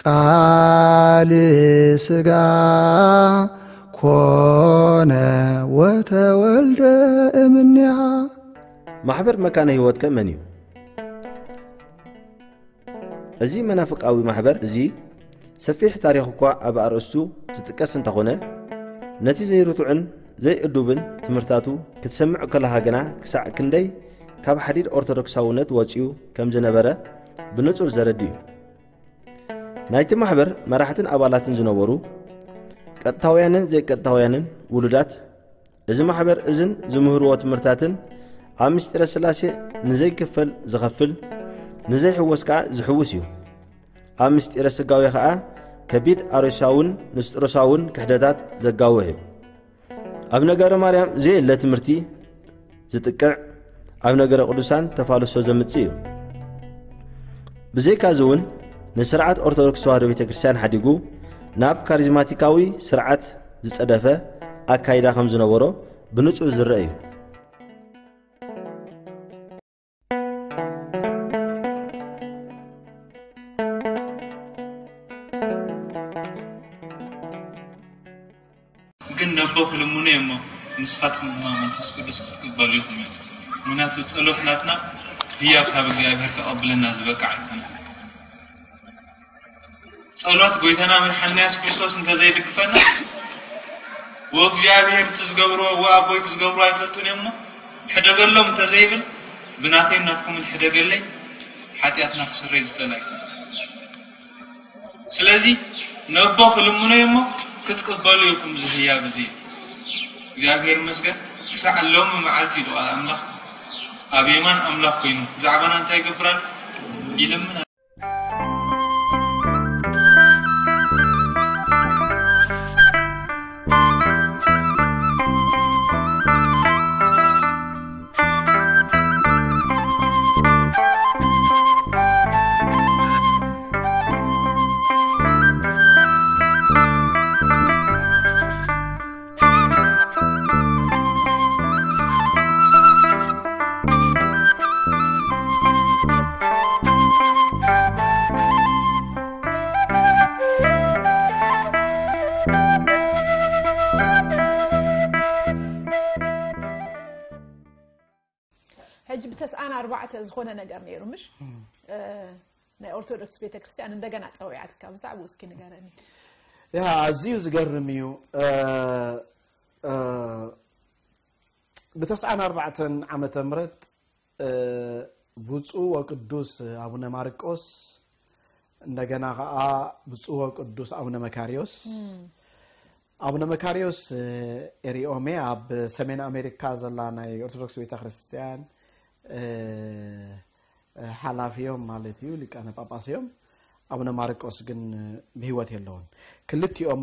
ቃል ሥጋ ኮነ ወተወልደ እምኔሃ። ማሕበር መካነ ህይወት ከ መን እዩ? እዚ መናፍቃዊ ማሕበር እዚ ሰፊሕ ታሪኽ እኳ ኣብ ኣርእስቱ ዝጥቀስ እንተኾነ፣ ነቲ ዘይርቱዕን ዘይእዱብን ትምህርታቱ ክትሰምዕ ከለኻ ግና ክሳዕ ክንደይ ካብ ሓዲድ ኦርቶዶክሳውነት ወጺኡ ከም ዝነበረ ብንጹር ዘረድእ እዩ። ናይቲ ማሕበር መራሕትን ኣባላትን ዝነበሩ ቀጥታውያንን ዘይቀጥታውያንን ውሉዳት እዚ ማሕበር እዝን ዝምህርዎ ትምህርታትን ኣብ ምስጢረ ስላሴ ንዘይክፈል ዝኸፍል ንዘይሕወስ ከኣ ዝሕውስ እዩ። ኣብ ምስጢረ ስጋዌ ከኣ ከቢድ ኣርዮሳውን ንስጥሮሳውን ክሕደታት ዘጋውሕ እዩ። ኣብ ነገረ ማርያም ዘየለ ትምህርቲ ዝጥቅዕ ኣብ ነገረ ቅዱሳን ተፋልሶ ዘምጽእ እዩ። ብዘይካዚ እውን ንስርዓት ኦርቶዶክስ ተዋህዶ ቤተ ክርስቲያን ሓዲጉ ናብ ካሪዝማቲካዊ ስርዓት ዝጸደፈ ኣካይዳ ከም ዝነበሮ ብንጹር ዝረአ እዩ። ግን ነቦ ክልምኑ እየ እሞ ንስኻትኩም ድማ መንፈስ ቅዱስ ክትቅበሉ ኢኹም እዩ። ምክንያቱ ጸሎት ናትና ህያብ ካብ እግዚኣብሔር ከቐብለና ዝበቅዕ ኣይኮነን። ጸሎት ጎይታና መድሓንና የሱስ ክርስቶስ እንተዘይድግፈና ወእግዚኣብሔር እቲ ዝገብርዎ ወኣቦይ እቲ ዝገብርዎ ኣይፈልጡን እዮም እሞ ሕደገሎም እንተዘይብል ብናተይን ናትኩምን ሕደገለይ ሓጢኣትና ክስረይ ዝኽእል ኣይኮነን። ስለዚ ነቦ ክልምኖ እሞ ክትቅበሉ ኢኹም እዚ ህያብ እዚ። እግዚኣብሔር ይመስገን ክሳዕ ሎሚ መዓልቲ ኢሉ ቃል ኣምላኽ ኣብ የማን ኣምላኽ ኮይኑ ብዛዕባና እንታይ ይገብር ኣሎ ይልምን። ሕጂ ብተስዓን ኣርባዕተ ዝኾነ ነገር ነይሩ ምሽ? እ፣ ናይ ኦርቶዶክስ ቤተክርስትያን እንደገና ጸዊዓትካ ብዛዕባኡ እስኪ ንገረኒ። ያ ኣዝዩ ዝገርም እዩ። እ፣ እ፣ ብተስዓን ኣርባዕተን ዓመተ ምህረት እ፣ ብፁዕ ወቅዱስ ኣቡነ ማርቆስ እንደገና ከዓ ብፁዕ ወቅዱስ ኣቡነ መካሪዮስ ኣቡነ መካሪዮስ እ፣ ኤሪኦሜ ኣብ ሰሜን ኣሜሪካ ዘላ ናይ ኦርቶዶክስ ቤተክርስትያን እ፣ እ፣ ሓላፊዮም ማለት እዩ፣ ሊቃነ ጳጳስ እዮም። ኣቡነ ማርቆስ ግን እ፣ ብህይወት የለውን። ክልቲኦም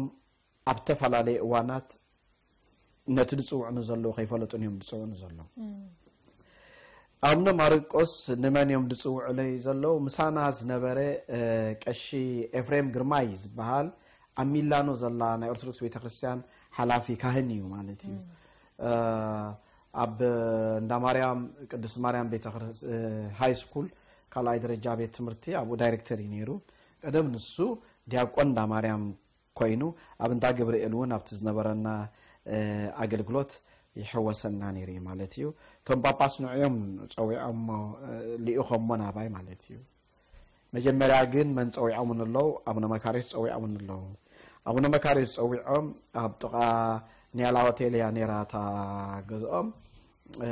ኣብ ዝተፈላለየ እዋናት ነቲ ዝፅውዑ ንዘለዉ ከይፈለጡን እዮም ዝፅውዑ ንዘለዉ። ኣቡነ ማርቆስ ንመን እዮም ዝፅውዑለይ ዘለዉ? ምሳና ዝነበረ እ፣ ቀሺ ኤፍሬም ግርማይ ዝበሃል ኣብ ሚላኖ ዘላ ናይ ኦርቶዶክስ ቤተክርስትያን ሓላፊ ካህን እዩ ማለት እዩ። እ፣ ኣብ እንዳ ማርያም ቅድስት ማርያም ቤተክርስ- እ፣ ሃይ ስኩል ካልኣይ ደረጃ ቤት ትምህርቲ ኣብኡ ዳይሬክተር እዩ ነይሩ። ቀደም ንሱ ዲያቆን እንዳ ማርያም ኮይኑ ኣብ እንዳ ገብርኤል እውን ኣብቲ ዝነበረና እ፣ ኣገልግሎት ይሕወሰና ነይሩ እዩ ማለት እዩ። እቶም ጳጳስ ንዕዮም ጸዊዖሞ እ፣ ልኢኾሞ ናባይ ማለት እዩ። መጀመርያ ግን መን ጸዊዖምን ኣለዉ? ኣቡነ መካርዮስ ጸዊዖምን ኣለዉ። ኣቡነ መካርዮስ ጸዊዖም ኣብ ጥቓ ኒያላ ሆቴል እያ ነይራ እታ ገዝኦም። እ፣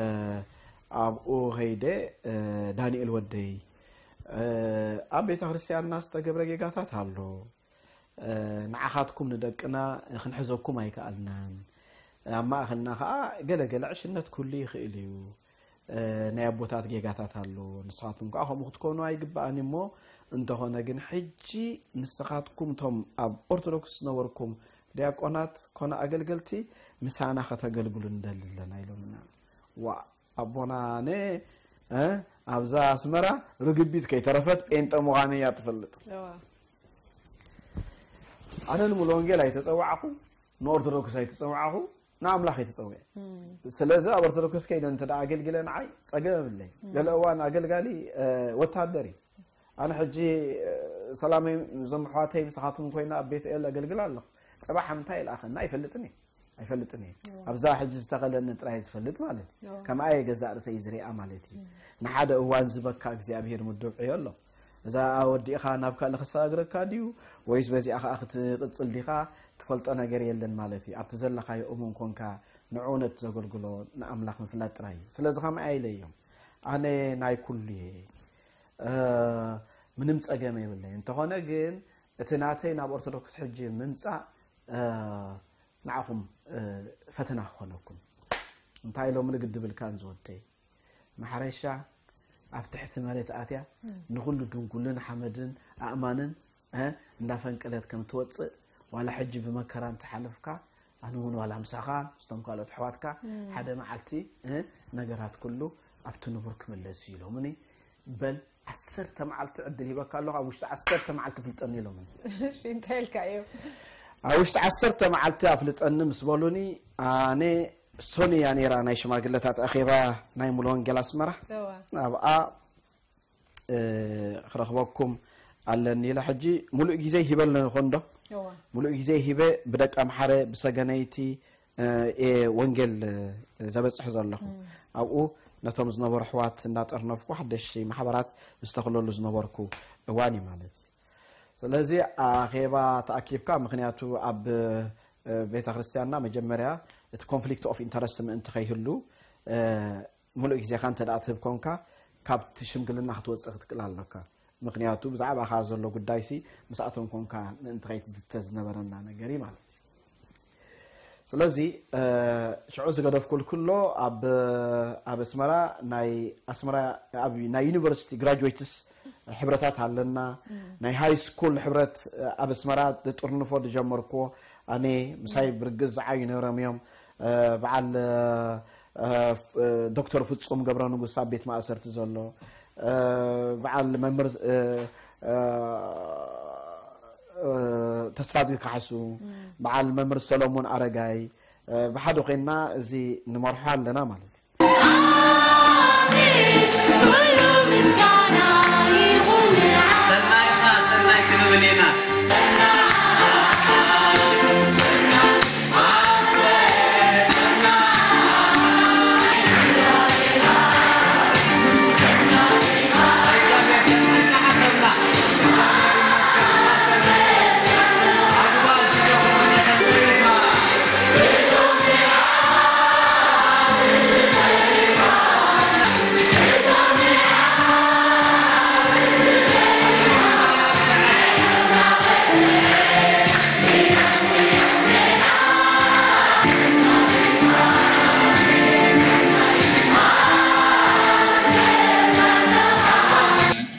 ኣብኡ ኸይደ እ፣ ዳንኤል ወደይ እ፣ ኣብ ቤተ ክርስቲያንና ዝተገብረ ጌጋታት ኣሎ። እ፣ ንዓኻትኩም ንደቅና ክንሕዘኩም ኣይከኣልናን። ኣብ ማእኸልና ኸዓ ገለ ገለ ዕሽነት ክህሉ ይኽእል እዩ። እ፣ ናይ ኣቦታት ጌጋታት ኣሎ። ንስኻትኩም ከዓ ከምኡ ክትኮኑ ኣይግባእን እሞ፣ እንተኾነ ግን ሕጂ ንስኻትኩም እቶም ኣብ ኦርቶዶክስ ዝነበርኩም ዲያቆናት ኮነ ኣገልገልቲ ምሳና ከተገልግሉ ንደሊ ኣለና ኢሎምና። ዋ ኣቦና ነ እ፣ ኣብዛ ኣስመራ ርግቢት ከይተረፈት ጴንጠ ምዃነይ እያ ትፈልጥ። እዋ። ኣነ ንሙሉ ወንጌል ኣይተጸዋዕኹ፣ ንኦርቶዶክስ ኣይተጸዋዕኹ፣ ንኣምላኽ ኣይተጸውዐ። ስለዚ ኣብ ኦርቶዶክስ ከይደ እንተ ደኣ ኣገልግለ ንዓይ ጸገም የብለይ። ገለ እዋን ኣገልጋሊ እ፣ ወታደር እዩ። ኣነ ሕጂ እ፣ ሰላመይ፣ እዞም ኣሕዋተይ ምሳኻትኩም ኮይና ኣብ ቤት ኤል ኣገልግል ኣለኹ። ጽባሕ እንታይ ይልኣኸና ኣይፈልጥን እየ። ኣይፈልጥን እየ። ኣብዛ ሕጂ ዝተኸለኒ ጥራይ ዝፈልጥ ማለት እዩ። ከምኣ እየ ገዛእ ርእሰይ ዝሪኣ ማለት እዩ። ንሓደ እዋን ዝበካ እግዚኣብሔር ምድብ ዕዮ ኣሎ። እዛ ወዲእኻ ናብ ካልእ ክሰጋግረካ ድዩ? ወይስ በዚኣ ኸኣ ክትቕጽል ዲኻ? ትፈልጦ ነገር የለን ማለት እዩ። ኣብቲ ዘለኻዮ እሙን ኮንካ ንዕውነት ዘገልግሎ ንኣምላኽ ምፍላጥ ጥራይ እዩ። ስለዚ ኸምኣ ኢለ እዮም። ኣነ ናይ ኩሉ እየ። እ፣ ምንም ጸገም የብለይ። እንተኾነ ግን እቲ ናተይ ናብ ኦርቶዶክስ ሕጂ ምምጻእ፣ እ፣ ንዓኹም፣ እ፣ ፈተና ክኾነኩም። እንታይ ኢሎምኒ ግዲ ብልካን ዝወደይ? ማሕረሻ ኣብ ትሕቲ መሬት ኣትያ ንኹሉ ድንጉልን ሓመድን ኣእማንን፣ እ፣ እንዳፈንቀለት ከም ትወጽእ፣ ዋላ ሕጂ ብመከራ እንተሓለፍካ፣ ኣነ እውን ዋላ ምሳኻ ምስቶም ካልኦት ኣሕዋትካ ሓደ መዓልቲ፣ እ፣ ነገራት ኩሉ ኣብቲ ንቡር ክምለስ እዩ ኢሎምኒ። በል ዓሰርተ መዓልቲ ዕድል ሂበካ ኣለኹ፣ ኣብ ውሽጢ ዓሰርተ መዓልቲ ፍልጠኒ ኢሎምኒ። እሺ፣ እንታይ ኢልካ እዮም? ኣብ ውሽጢ ዓሰርተ መዓልቲ ኣፍልጠኒ ምስ በሉኒ፣ ኣነ ሶኒ እያ ነይራ ናይ ሽማግለታት ኣኼባ ናይ ሙሉ ወንጌል ኣስመራ። እዋ፣ ኣብኣ፣ እ፣ ክረኽበኩም ኣለኒ ኢለ ሕጂ ሙሉእ ግዜ ሂበ ኣለኹ እንዶ? እዋ። ሙሉእ ግዜ ሂበ ብደቂ ኣምሓረ ብሰገነይቲ፣ እ፣ እየ ወንጌል፣ እ፣ ዘበጽሕ ዘለኹ። ኣብኡ ነቶም ዝነበሩ ኣሕዋት እንዳጠርነፍኩ ሓደሽቲ ማሕበራት ዝተኽለሉ ዝነበርኩ እዋን እዩ ማለት እዩ። ስለዚ ኣኼባ ተኣኪብካ፣ ምኽንያቱ ኣብ፣ እ፣ ቤተ ክርስቲያንና መጀመርያ እቲ ኮንፍሊክት ኦፍ ኢንተረስት ምእንቲ ከይህሉ፣ እ፣ ሙሉእ ግዜኻ እንተ ደኣ ትህብ ኮንካ፣ ካብቲ ሽምግልና ክትወጽእ ክትክእል ኣለካ። ምኽንያቱ ብዛዕባኻ ዘሎ ጉዳይሲ ምስኣቶም ኮንካ ምእንቲ ከይትዝተ ዝነበረና ነገር እዩ ማለት እዩ። ስለዚ፣ እ፣ ሽዑ ዝገደፍኩ ክሎ ኣብ፣ ኣብ ኣስመራ ናይ ኣስመራ ኣብ ናይ ዩኒቨርሲቲ ግራጁዌትስ ሕብረታት ኣለና። ናይ ሃይ ስኩል ሕብረት፣ እ፣ ኣብ ኣስመራ ዝጥርንፎ ዝጀመርኩዎ ኣነ ምሳይ ብርግጽ ዝዓዩ ነይሮም እዮም። እ፣ በዓል፣ እ፣ እ፣ ፍ-፣ እ፣ ዶክተር ፍጹም ገብረ ንጉስ ኣብ ቤት ማእሰርቲ ዘሎ፣ እ፣ በዓል መምህር፣ እ፣ እ፣ እ፣ ተስፋዝጊ ካሕሱ፣ በዓል መምህር ሰሎሞን ኣረጋይ፣ እ፣ ብሓደ ኮይንና እዚ ንመርሖ ኣለና ማለት እዩ። ኣሜን፣ ኩሉ ምስጋና ይኹን ንዓኻ። ሰናይና ሰናይ ክንብል ኢና።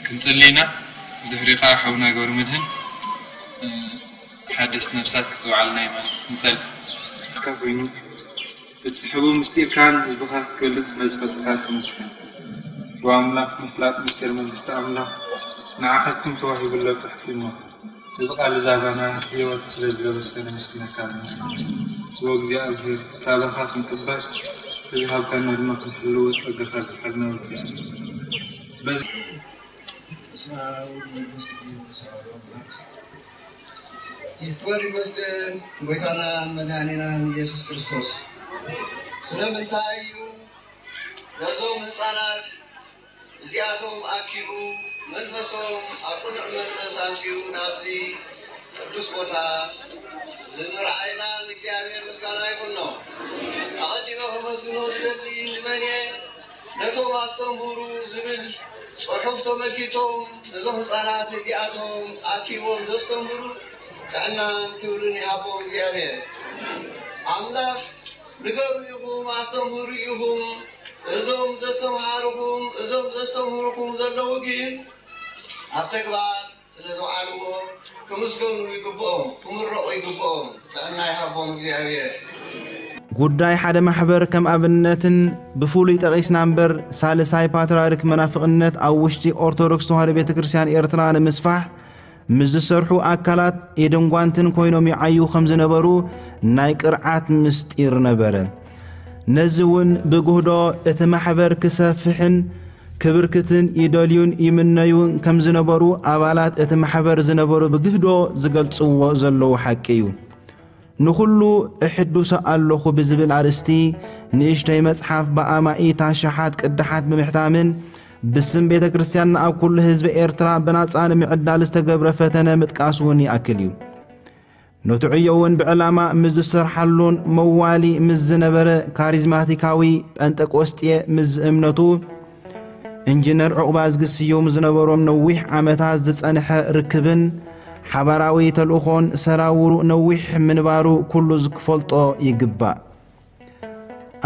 ክንጽሊ ኢና። ብድሕሪኡ ከኣ ሓውና ገብረመድህን፣ እ፣ ሓደስቲ ነፍሳት ክትበዓልና ኢና። ንጸሊ። ካብ ኮይኑ እቲ ሕቡእ ምስጢርካ ንህዝብኻ ክትገልጽ ስለ ዝፈተኻ ተመስገን። ብኣምላኽ ምፍላጥ ምስጢር መንግስቲ ኣምላኽ ንዓኻትኩም ተዋሂቡ ኣሎ ጽሑፍ እሞ፣ እዚ ቃል እዚ ኣባና ህይወት ስለ ዝለበሰ ነመስግነካ ኣለና። እወ እግዚኣብሔር፣ ቃልኻ ክንቅበል፣ እዚ ሃብታና ድማ ክንሕልዎ ጸጋኻ ኣብዝሓልና ወኪል። በዚ ይክበር ይመስገን ጎይታናን መድኃኒናን ኢየሱስ ክርስቶስ። ስለምንታይ እዩ ነዞም ህፃናት እዚኣቶም ኣኪቡ መንፈሶም ኣብ ቅኑዕ መንፈስ ኣምፅኡ ናብዚ ቅዱስ ቦታ ዝምርዓይና ንእግዚኣብሔር ምስጋና ይኹኖ። ኣቐዲመ ከመስግኖ ዝደሊ ንመን እየ? ነቶም ኣስተምህሩ ዝብል ጽሑፍ ተመልኪቶም እዞም ህፃናት እዚኣቶም ኣኪቦም ዘስተምህሩ ጥዕናን ክብርን ይሃቦም እግዚኣብሔር። ኣምላኽ ንገሩ ኢኹም፣ ኣስተምህሩ ኢኹም። እዞም ዘስተምሃርኹም፣ እዞም ዘስተምህርኹም ዘለዉ ግን ኣብ ተግባር ስለ ዘውዓልዎ ክምስገኑ ይግብኦም፣ ክምረቑ ይግብኦም። ጥዕና ይሃቦም እግዚኣብሔር። ጉዳይ ሓደ ማሕበር ከም ኣብነትን ብፍሉይ ጠቒስና እምበር ሳልሳይ ፓትርያርክ መናፍቕነት ኣብ ውሽጢ ኦርቶዶክስ ተዋህዶ ቤተ ክርስቲያን ኤርትራ ንምስፋሕ ምስ ዝሰርሑ ኣካላት ኢድን ጓንትን ኮይኖም ይዓዩ ከም ዝነበሩ ናይ ቅርዓት ምስጢር ነበረ። ነዚ እውን ብጉህዶ እቲ ማሕበር ክሰፍሕን ክብርክትን ይደልዩን ይምነዩን ከም ዝነበሩ ኣባላት እቲ ማሕበር ዝነበሩ ብግህዶ ዝገልጽዎ ዘለዉ ሓቂ እዩ። ንኹሉ እሕዱሰ ኣለኹ ብዝብል ኣርእስቲ ንእሽተይ መጽሓፍ ብኣማኢት ኣሽሓት ቅዳሓት ብምሕታምን ብስም ቤተ ክርስቲያንና ኣብ ኩሉ ህዝቢ ኤርትራ ብናጻ ንምዕዳል ዝተገብረ ፈተነ ምጥቃስ እውን ይኣክል እዩ። ነቲ ዕዮ እውን ብዕላማ ምስ ዝሰርሓሉን መዋሊ ምስ ዝነበረ ካሪዝማቲካዊ ጴንጠቆስጤ ምስ እምነቱ ኢንጂነር ዑቕባዝጊ ስዩም ዝነበሮም ነዊሕ ዓመታት ዝጸንሐ ርክብን ሓባራዊ ተልእኾን ሰራውሩ ነዊሕ ምንባሩ ኩሉ ዝክፈልጦ ይግባእ።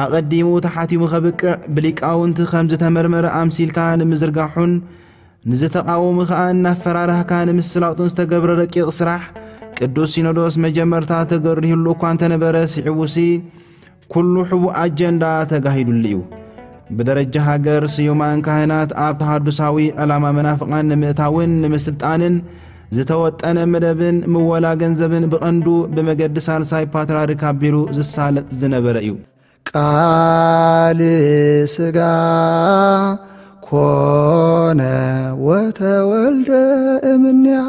ኣቐዲሙ ተሓቲሙ ከብቅዕ ብሊቃውንቲ ከም ዝተመርመረ ኣምሲልካ ንምዝርጋሑን ንዝተቓወሙ ከኣ እናፈራራህካ ንምስላጡን ዝተገብረ ረቂቕ ስራሕ ቅዱስ ሲኖዶስ መጀመርታ ተገሪህሉ እኳ እንተነበረ ስዒቡሲ ኩሉ ሕቡእ ኣጀንዳ ተጋሂዱሉ እዩ። ብደረጃ ሃገር ስዩማን ካህናት ኣብ ተሃዱሳዊ ዕላማ መናፍቓን ንምእታውን ንምስልጣንን ዝተወጠነ መደብን ምወላ ገንዘብን ብቐንዱ ብመገዲ ሳልሳይ ፓትርያርክ ኣቢሉ ዝሳለጥ ዝነበረ እዩ። ቃል ስጋ ኮነ ወተወልደ እምኔሃ።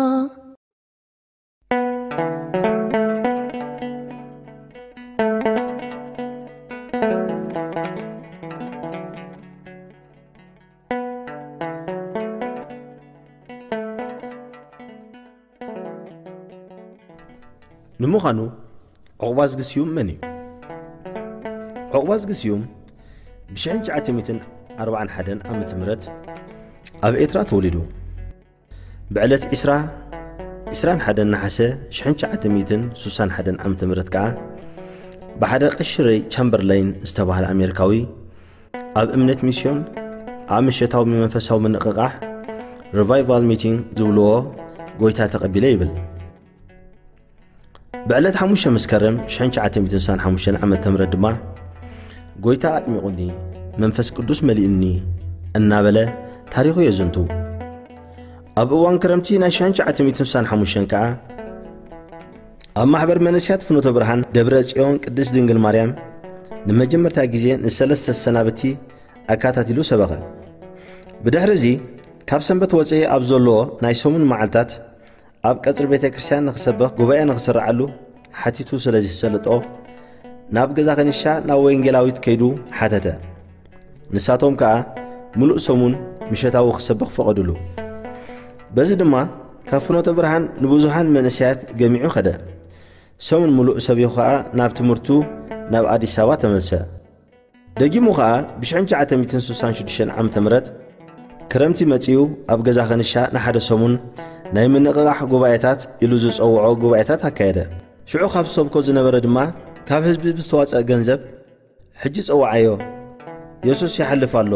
ንምዃኑ ዑቕባዝጊ ስዩም መን እዩ? ዑቕባዝጊ ስዩም ብ ሽሕን ትሽዓተ ሚእትን ኣርባዓን ሓደን ዓመተ ምህረት ኣብ ኤርትራ ተወሊዱ። ብዕለት ዒስራ፣ ዒስራን ሓደን ነሓሰ ሽሕን ትሽዓተ ሚእትን ሱሳን ሓደን ዓመተ ምህረት ከኣ ብሓደ ቀሺ ሬይ ቻምበርላይን ዝተባህለ ኣሜሪካዊ ኣብ እምነት ሚስዮን ኣብ ምሸታዊ መንፈሳዊ ምንቕቓሕ ሪቫይቫል ሚቲንግ ዝብልዎ ጎይታ ተቐቢለ ይብል። ብዕለት ሓሙሽተ መስከረም ሽሕን ትሽዓተ ሚእትን ስሳን ሓሙሽተን ዓመተ ምህረት ድማ ጎይታ ኣጥሚቑኒ፣ መንፈስ ቅዱስ መሊኡኒ እናበለ ታሪኹ የዘንቱ። ኣብ እዋን ክረምቲ ናይ ሽሕን ትሽዓተ ሚእትን ስሳን ሓሙሽተን ከኣ ኣብ ማሕበር መንእሰያት ፍኖተ ብርሃን ደብረ ጽዮን ቅድስት ድንግል ማርያም ንመጀመርታ ግዜ ንሰለስተ ሰናብቲ ኣካታቲሉ ሰበኸ። ብድሕሪ እዚ ካብ ሰንበት ወጸኢ ኣብ ዘሎ ናይ ሰሙን መዓልታት ኣብ ቀጽሪ ቤተ ክርስቲያን ንኽሰብኽ ጉባኤ ንኽስርዓሉ ሓቲቱ ስለ ዝሰለጦ ናብ ገዛ ከኒሻ ናብ ወንጌላዊት ከይዱ ሓተተ። ንሳቶም ከኣ ምሉእ ሰሙን ምሸታዊ ክሰብኽ ፈቐዱሉ። በዚ ድማ ካብ ፍኖተ ብርሃን ንብዙሓን መንእሰያት ገሚዑ ኸደ። ሰሙን ምሉእ ሰቢኹ ኸኣ ናብ ትምህርቱ ናብ ኣዲስ ኣበባ ተመልሰ። ደጊሙ ኸኣ ብሽሕን ትሽዓተ ሚእትን ስሳን ሽዱሽተን ዓመተ ምህረት ክረምቲ መጺኡ ኣብ ገዛ ከንሻ ንሓደ ሰሙን ናይ ምንቕቓሕ ጉባኤታት ኢሉ ዝጸውዖ ጉባኤታት ኣካየደ። ሽዑ ካብ ዝሰብኮ ዝነበረ ድማ ካብ ህዝቢ ብዝተዋጸእ ገንዘብ ሕጂ ጸውዓዮ፣ የሱስ ይሓልፍ ኣሎ፣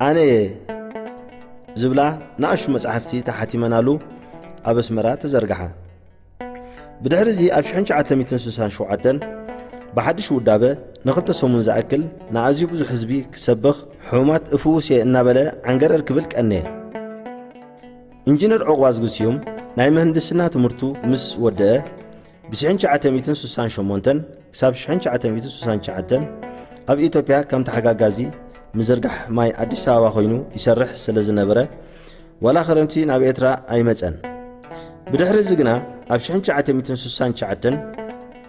ኣነ እየ ዝብላ ንኣሽቱ መጻሕፍቲ ተሓቲመናሉ ኣብ ኣስመራ ተዘርግሓ። ብድሕሪ እዚ ኣብ ሽሕን ትሽዓተ ሚእትን ስሳን ሸውዓተን ብሓድሽ ውዳበ ንኽልተ ሰሙን ዝኣክል ንኣዝዩ ብዙሕ ህዝቢ ክሰብኽ፣ ሕሙማት እፍውስ እየ እናበለ ዓንገረር ክብል ቀነየ። ኢንጂነር ዑቕባዝጊ ስዩም ናይ ምህንድስና ትምህርቱ ምስ ወደአ ብሽሕን ትሽዓተ ሚእትን ስሳን ሸሞንተን ክሳብ ሽሕን ትሽዓተ ሚእትን ስሳን ትሽዓተን ኣብ ኢትዮጵያ ከም ተሓጋጋዚ ምዝርጋሕ ማይ ኣዲስ ኣበባ ኮይኑ ይሰርሕ ስለ ዝነበረ ዋላ ክረምቲ ናብ ኤርትራ ኣይመጸን። ብድሕሪ እዚ ግና ኣብ ሽሕን ትሽዓተ ሚእትን ስሳን ትሽዓተን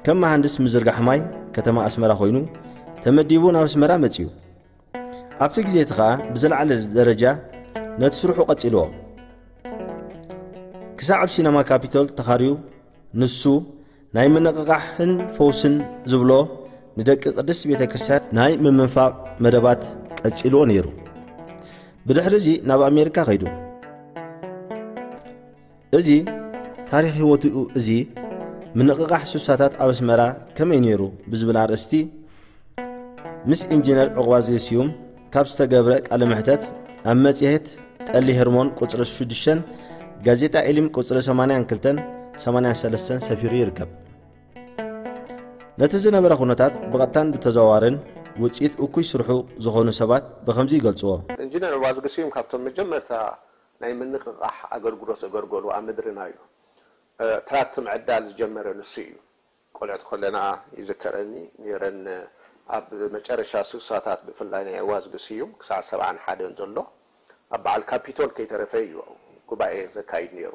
ከም መሃንድስ ምዝርጋሕ ማይ ከተማ ኣስመራ ኮይኑ ተመዲቡ ናብ ኣስመራ መጺኡ። ኣብቲ ግዜ እቲ ኸኣ ብዝለዓለ ደረጃ ነቲ ስርሑ ቀጺልዎ። ክሳዕ ኣብ ሲነማ ካፒቶል ተኻርዩ ንሱ ናይ ምንቕቓሕን ፈውስን ዝብሎ ንደቂ ቅድስት ቤተ ክርስቲያን ናይ ምምንፋቕ መደባት ቀጺልዎ ነይሩ። ብድሕሪ እዚ ናብ ኣሜሪካ ከይዱ። እዚ ታሪኽ ህይወቱ እዚ ምንቕቓሕ ሱሳታት ኣብ ኣስመራ ከመይ ነይሩ ብዝብል ኣርእስቲ ምስ ኢንጂነር ዑቕባዝጊ ስዩም ካብ ዝተገብረ ቃለ መሕተት ኣብ መጽሔት ጠሊ ሄርሞን ቁጽሪ ሽዱሽተን ጋዜጣ ኤሊም ቁጽሪ ሰማንያን ክልተን ሰማንያን ሰለስተን ሰፊሩ ይርከብ። ነቲ ዝነበረ ኩነታት ብቐጥታን ብተዘዋዋርን ውጽኢት እኩይ ስርሑ ዝኾኑ ሰባት ብኸምዚ ይገልጽዎ። ኢንጂነር ዑቕባዝጊ ስዩም ካብቶም መጀመርታ ናይ ምንቕቓሕ ኣገልግሎት ዘገልገሉ ኣብ ምድርና እዩ። እ፣ ትራክት ምዕዳል ዝጀመረ ንሱ እዩ። ቆልዑት ከለና ይዝከረኒ ነይረን፣ እ፣ ኣብ መጨረሻ ስሳታት ብፍላይ ናይ ዕዋዝጊ ስዩም ክሳዕ ሰብዓን ሓደን ዘሎ ኣብ በዓል ካፒቶል ከይተረፈ እዩ ጉባኤ ዘካይድ ነይሩ።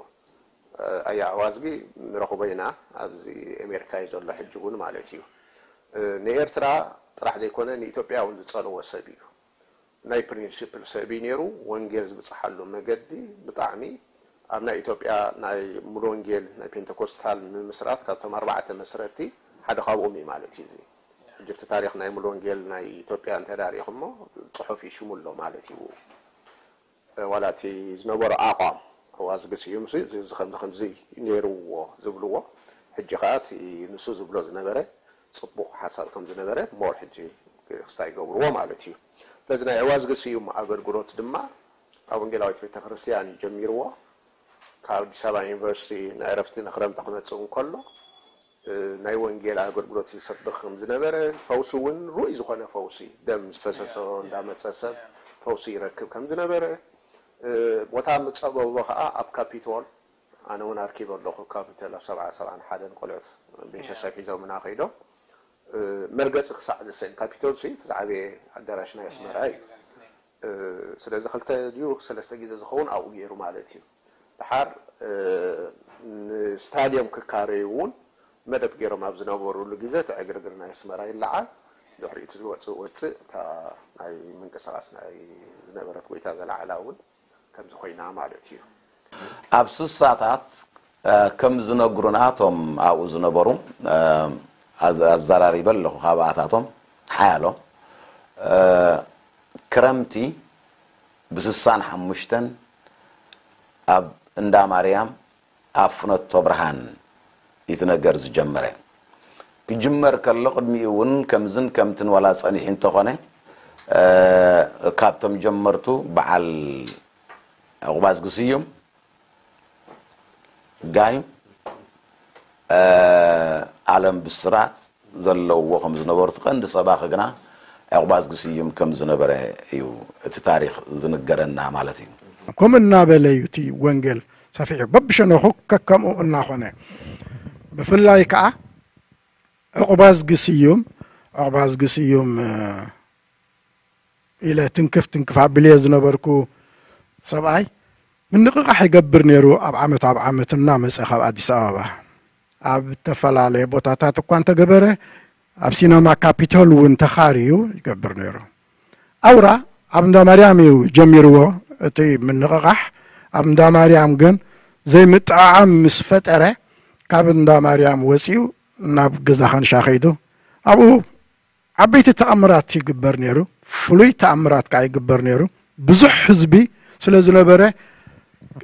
ኣያ ዕዋዝጊ ንረኽቦ ኢና ኣብዚ ኣሜሪካ እዩ ዘሎ ሕጂ እውን ማለት እዩ። ንኤርትራ ጥራሕ ዘይኮነ ንኢትዮጵያ እውን ዝጸልዎ ሰብ እዩ። ናይ ፕሪንሲፕል ሰብ እዩ ነይሩ። ወንጌል ዝብጽሓሉ መገዲ ብጣዕሚ ኣብ ናይ ኢትዮጵያ ናይ ሙሉ ወንጌል ናይ ፔንቴኮስታል ምምስራት ካብቶም ኣርባዕተ መስረቲ ሓደ ካብኦም እዩ ማለት እዩ። እዚ ሕጂ እቲ ታሪኽ ናይ ሙሉ ወንጌል ናይ ኢትዮጵያ እንተዳሪኹሞ ጽሑፍ እዩ ሽሙ ኣሎ ማለት እዩ። ዋላ እቲ ዝነበሮ ኣቋም ኣዋዝጊ ስዩም እዚ ከምዚ ከምዚ ነይርዎ ዝብልዎ ሕጂ ከዓ እቲ ንሱ ዝብሎ ዝነበረ ፅቡቕ ሓሳብ ከም ዝነበረ ሞር ሕጂ ክስታይ ይገብርዎ ማለት እዩ። ስለዚ ናይ ዕዋዝጊ ስዩም ኣገልግሎት ድማ ኣብ ወንጌላዊት ቤተክርስትያን እዩ ጀሚርዎ። ካብ ኣዲስ ኣበባ ዩኒቨርሲቲ ንዕረፍቲ ንክረምቲ ክመፅእ እንከሎ ናይ ወንጌል ኣገልግሎት ይሰብኽ ከም ዝነበረ፣ ፈውሲ እውን ርኡይ ዝኾነ ፈውሲ፣ ደም ዝፈሰሶ እንዳመፀ ሰብ ፈውሲ ይረክብ ከም ዝነበረ፣ ቦታ ምፀበቦ ከዓ ኣብ ካፒቶል፣ ኣነ እውን ኣርኪበ ኣለኹ፣ ካፒቶል ኣብ ሰብዓ ሰብዓን ሓደን ቆልዑት ቤተሰብ ሒዞምና ከይዶም መርገፂ ክሳዕ ዝስእን፣ ካፒቶል ሲ እቲ ዝዓበየ ኣዳራሽ ናይ ኣስመራ እዩ። ስለዚ ክልተ ድዩ ሰለስተ ግዜ ዝኸውን ኣብኡ ገይሩ ማለት እዩ። ድሓር ንስታድዮም ክካረዩ እውን መደብ ገይሮም ኣብ ዝነበሩሉ ግዜ እቲ ዕግርግር ናይ ኣስመራ ይለዓል፣ ድሕሪኡ እቲ ዝወፅእ ወፅእ እታ ናይ ምንቅስቃስ ናይ ዝነበረት ጎይታ ዘለዓላ እውን ከምዚ ኮይና ማለት እዩ። ኣብ ስሳታት ከም ዝነግሩና እቶም ኣብኡ ዝነበሩ ኣዘራሪበ ኣለኹ ካብኣታቶም ሓያሎ ክረምቲ ብስሳን ሓሙሽተን ኣብ እንዳ ማርያም ኣብ ፍኖቶ ብርሃን እቲ ነገር ዝጀመረ ክጅመር ከሎ ቅድሚኡ እውን ከምዝን ከምትን ዋላ ጸኒሑ እንተኾነ ካብቶም ጀመርቱ በዓል ዕቑባዝጊ ስዩም ጋይ ኣለም ብስራት ዘለውዎ ከም ዝነበሩ እቲ ቀንዲ ሰባኺ ግና ዕቑባዝጊ ስዩም ከም ዝነበረ እዩ እቲ ታሪኽ ዝንገረና ማለት እዩ። ከምኡ እናበለ እዩ እቲ ወንጌል ሰፊሑ በብሸነኹ ከከምኡ እናኾነ ብፍላይ ከዓ ዕቑባዝጊ ስዩም ዕቑባዝጊ ስዩም ኢለ ትንክፍ ትንክፍ ኣብልየ ዝነበርኩ ሰብኣይ ምንቕቓሕ ይገብር ነይሩ። ኣብ ዓመት ኣብ ዓመት እናመፀ ካብ ኣዲስ ኣበባ ኣብ እተፈላለየ ቦታታት እኳ እንተገበረ ኣብ ሲነማ ካፒቶል እውን ተኻርዩ ይገብር ነይሩ። ኣውራ ኣብ እንዳ ማርያም እዩ ጀሚርዎ እቲ ምንቕቓሕ። ኣብ እንዳ ማርያም ግን ዘይምጥዕዓም ምስ ፈጠረ ካብ እንዳ ማርያም ወፂኡ ናብ ገዛ ኻንሻ ከይዱ ኣብኡ ዓበይቲ ተኣምራት ይግበር ነይሩ። ፍሉይ ተኣምራት ከዓ ይግበር ነይሩ። ብዙሕ ህዝቢ ስለ ዝነበረ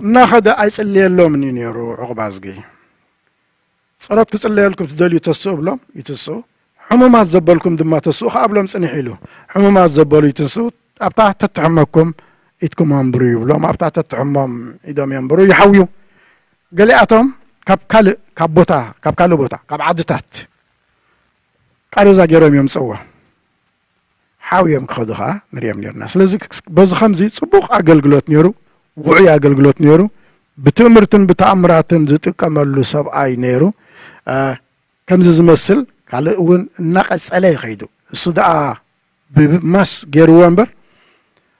እናኸደ ኣይፅልየሎምን እዩ ነይሩ። ዕቑባዝጊ ፀሎት ክፅለየልኩም ትደልዩ ተስኡ ብሎም ይትስኡ። ሕሙማት ዘበልኩም ድማ ተስኡ ከዓ ብሎም ፅንሕ ኢሉ ሕሙማት ዘበሉ ይትንስኡ። ኣብታ ተትሕመኩም ኢድኩም ኣንብሩ ይብሎም። ኣብታ ተትሕሞም ኢዶም የንብሩ ይሓውዩ። ገሊኣቶም ካብ ካልእ ካብ ቦታ ካብ ካልእ ቦታ ካብ ዓድታት ቃሬዛ ገይሮም እዮም ዝፀውዎ ሓውዮም ክኸዱ ከዓ ንሪኦም ነርና። ስለዚ በዚ ከምዚ ፅቡቕ ኣገልግሎት ነይሩ፣ ውዑይ ኣገልግሎት ነይሩ። ብትእምርትን ብተኣምራትን ዝጥቀመሉ ሰብኣይ ነይሩ። ከምዚ ዝመስል ካልእ እውን እናቐፀለ ይኸይዱ። እሱ ደኣ ብማስ ገይርዎ እምበር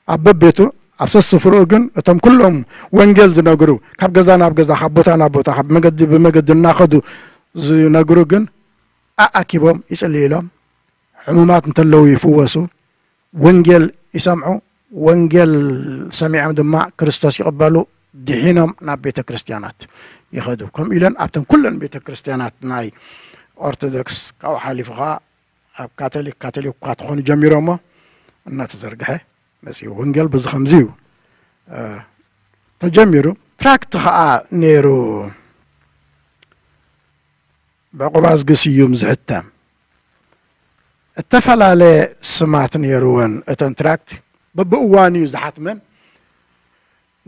ኣብ በቤቱ ኣብ ሰስፍርኡ ግን እቶም ኩሎም ወንጌል ዝነግሩ ካብ ገዛ ናብ ገዛ ካብ ቦታ ናብ ቦታ ካብ መገዲ ብመገዲ እናኸዱ ዝነግሩ ግን ኣኣኪቦም ይፅልዩ ኢሎም ሕሙማት እንተለዉ ይፍወሱ፣ ወንጌል ይሰምዑ፣ ወንጌል ሰሚዖም ድማ ክርስቶስ ይቕበሉ፣ ድሒኖም ናብ ቤተ ክርስቲያናት ይኸዱ። ከምኡ ኢለን ኣብተን ኩለን ቤተ ክርስቲያናት ናይ ኦርቶዶክስ ካብኡ ሓሊፉ ከዓ ኣብ ካቶሊክ ካቶሊክ እኳ ተኾኑ ጀሚሮሞ እናተዘርግሐ መፅኡ። ወንጌል በዚ ከምዚ እዩ ተጀሚሩ። ትራክት ከዓ ነይሩ ብዕቑባዝጊ ስዩም ዝሕተም እተፈላለየ ስማት ነይርወን እተን ትራክት በብእዋኑ እዩ ዝሓትመን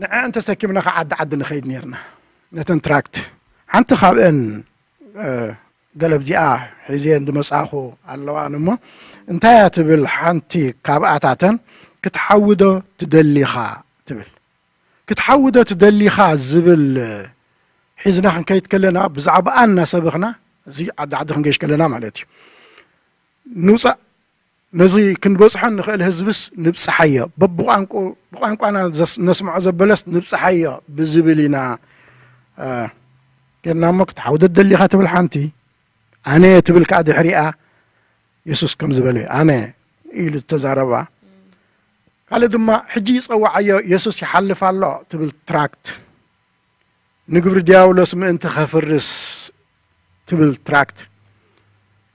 ንዐን ተሰኪምና ካብ ዓዲ ዓዲ ንኸይድ ነርና ነተን ትራክት ሓንቲ ካብአን ገለብዚኣ ሒዘን ዝመፃኹ ኣለዋን እሞ እንታይ እያ ትብል ሓንቲ ካብኣታተን ክትሓውዶ ትደሊኻ ትብል ክትሓውዶ ትደሊኻ ዝብል ሒዝና ክንከይድ ከለና ብዛዕባኣ እናሰበኽና እዚ ዓዲ ዓዲ ክንገሽ ከለና ማለት እዩ ንውፃእ ነዚ ክንበጽሖ ንኽእል ህዝብስ ንብጽሓዮ፣ በብቋንቁ-፣ ብቋንቋና ዘስ-፣ ነስምዖ ዘበለስ ንብጽሓዮ ብዝብል ኢና፣ እ፣ ጌርና እሞ፣ ክትሓውደት ደሊኻ ትብል ሓንቲ፣ ኣነ ትብል ከኣ ድሕሪኣ የሱስ ከም ዝበለ፣ ኣነ ኢሉ ዝተዛረባ። ካልእ ድማ፣ ሕጂ ይጸውዓዮ፣ የሱስ ይሓልፍ ኣሎ ትብል ትራክት። ንግብሪ ዲያብሎስ ምእንቲ ኸፍርስ ትብል ትራክት።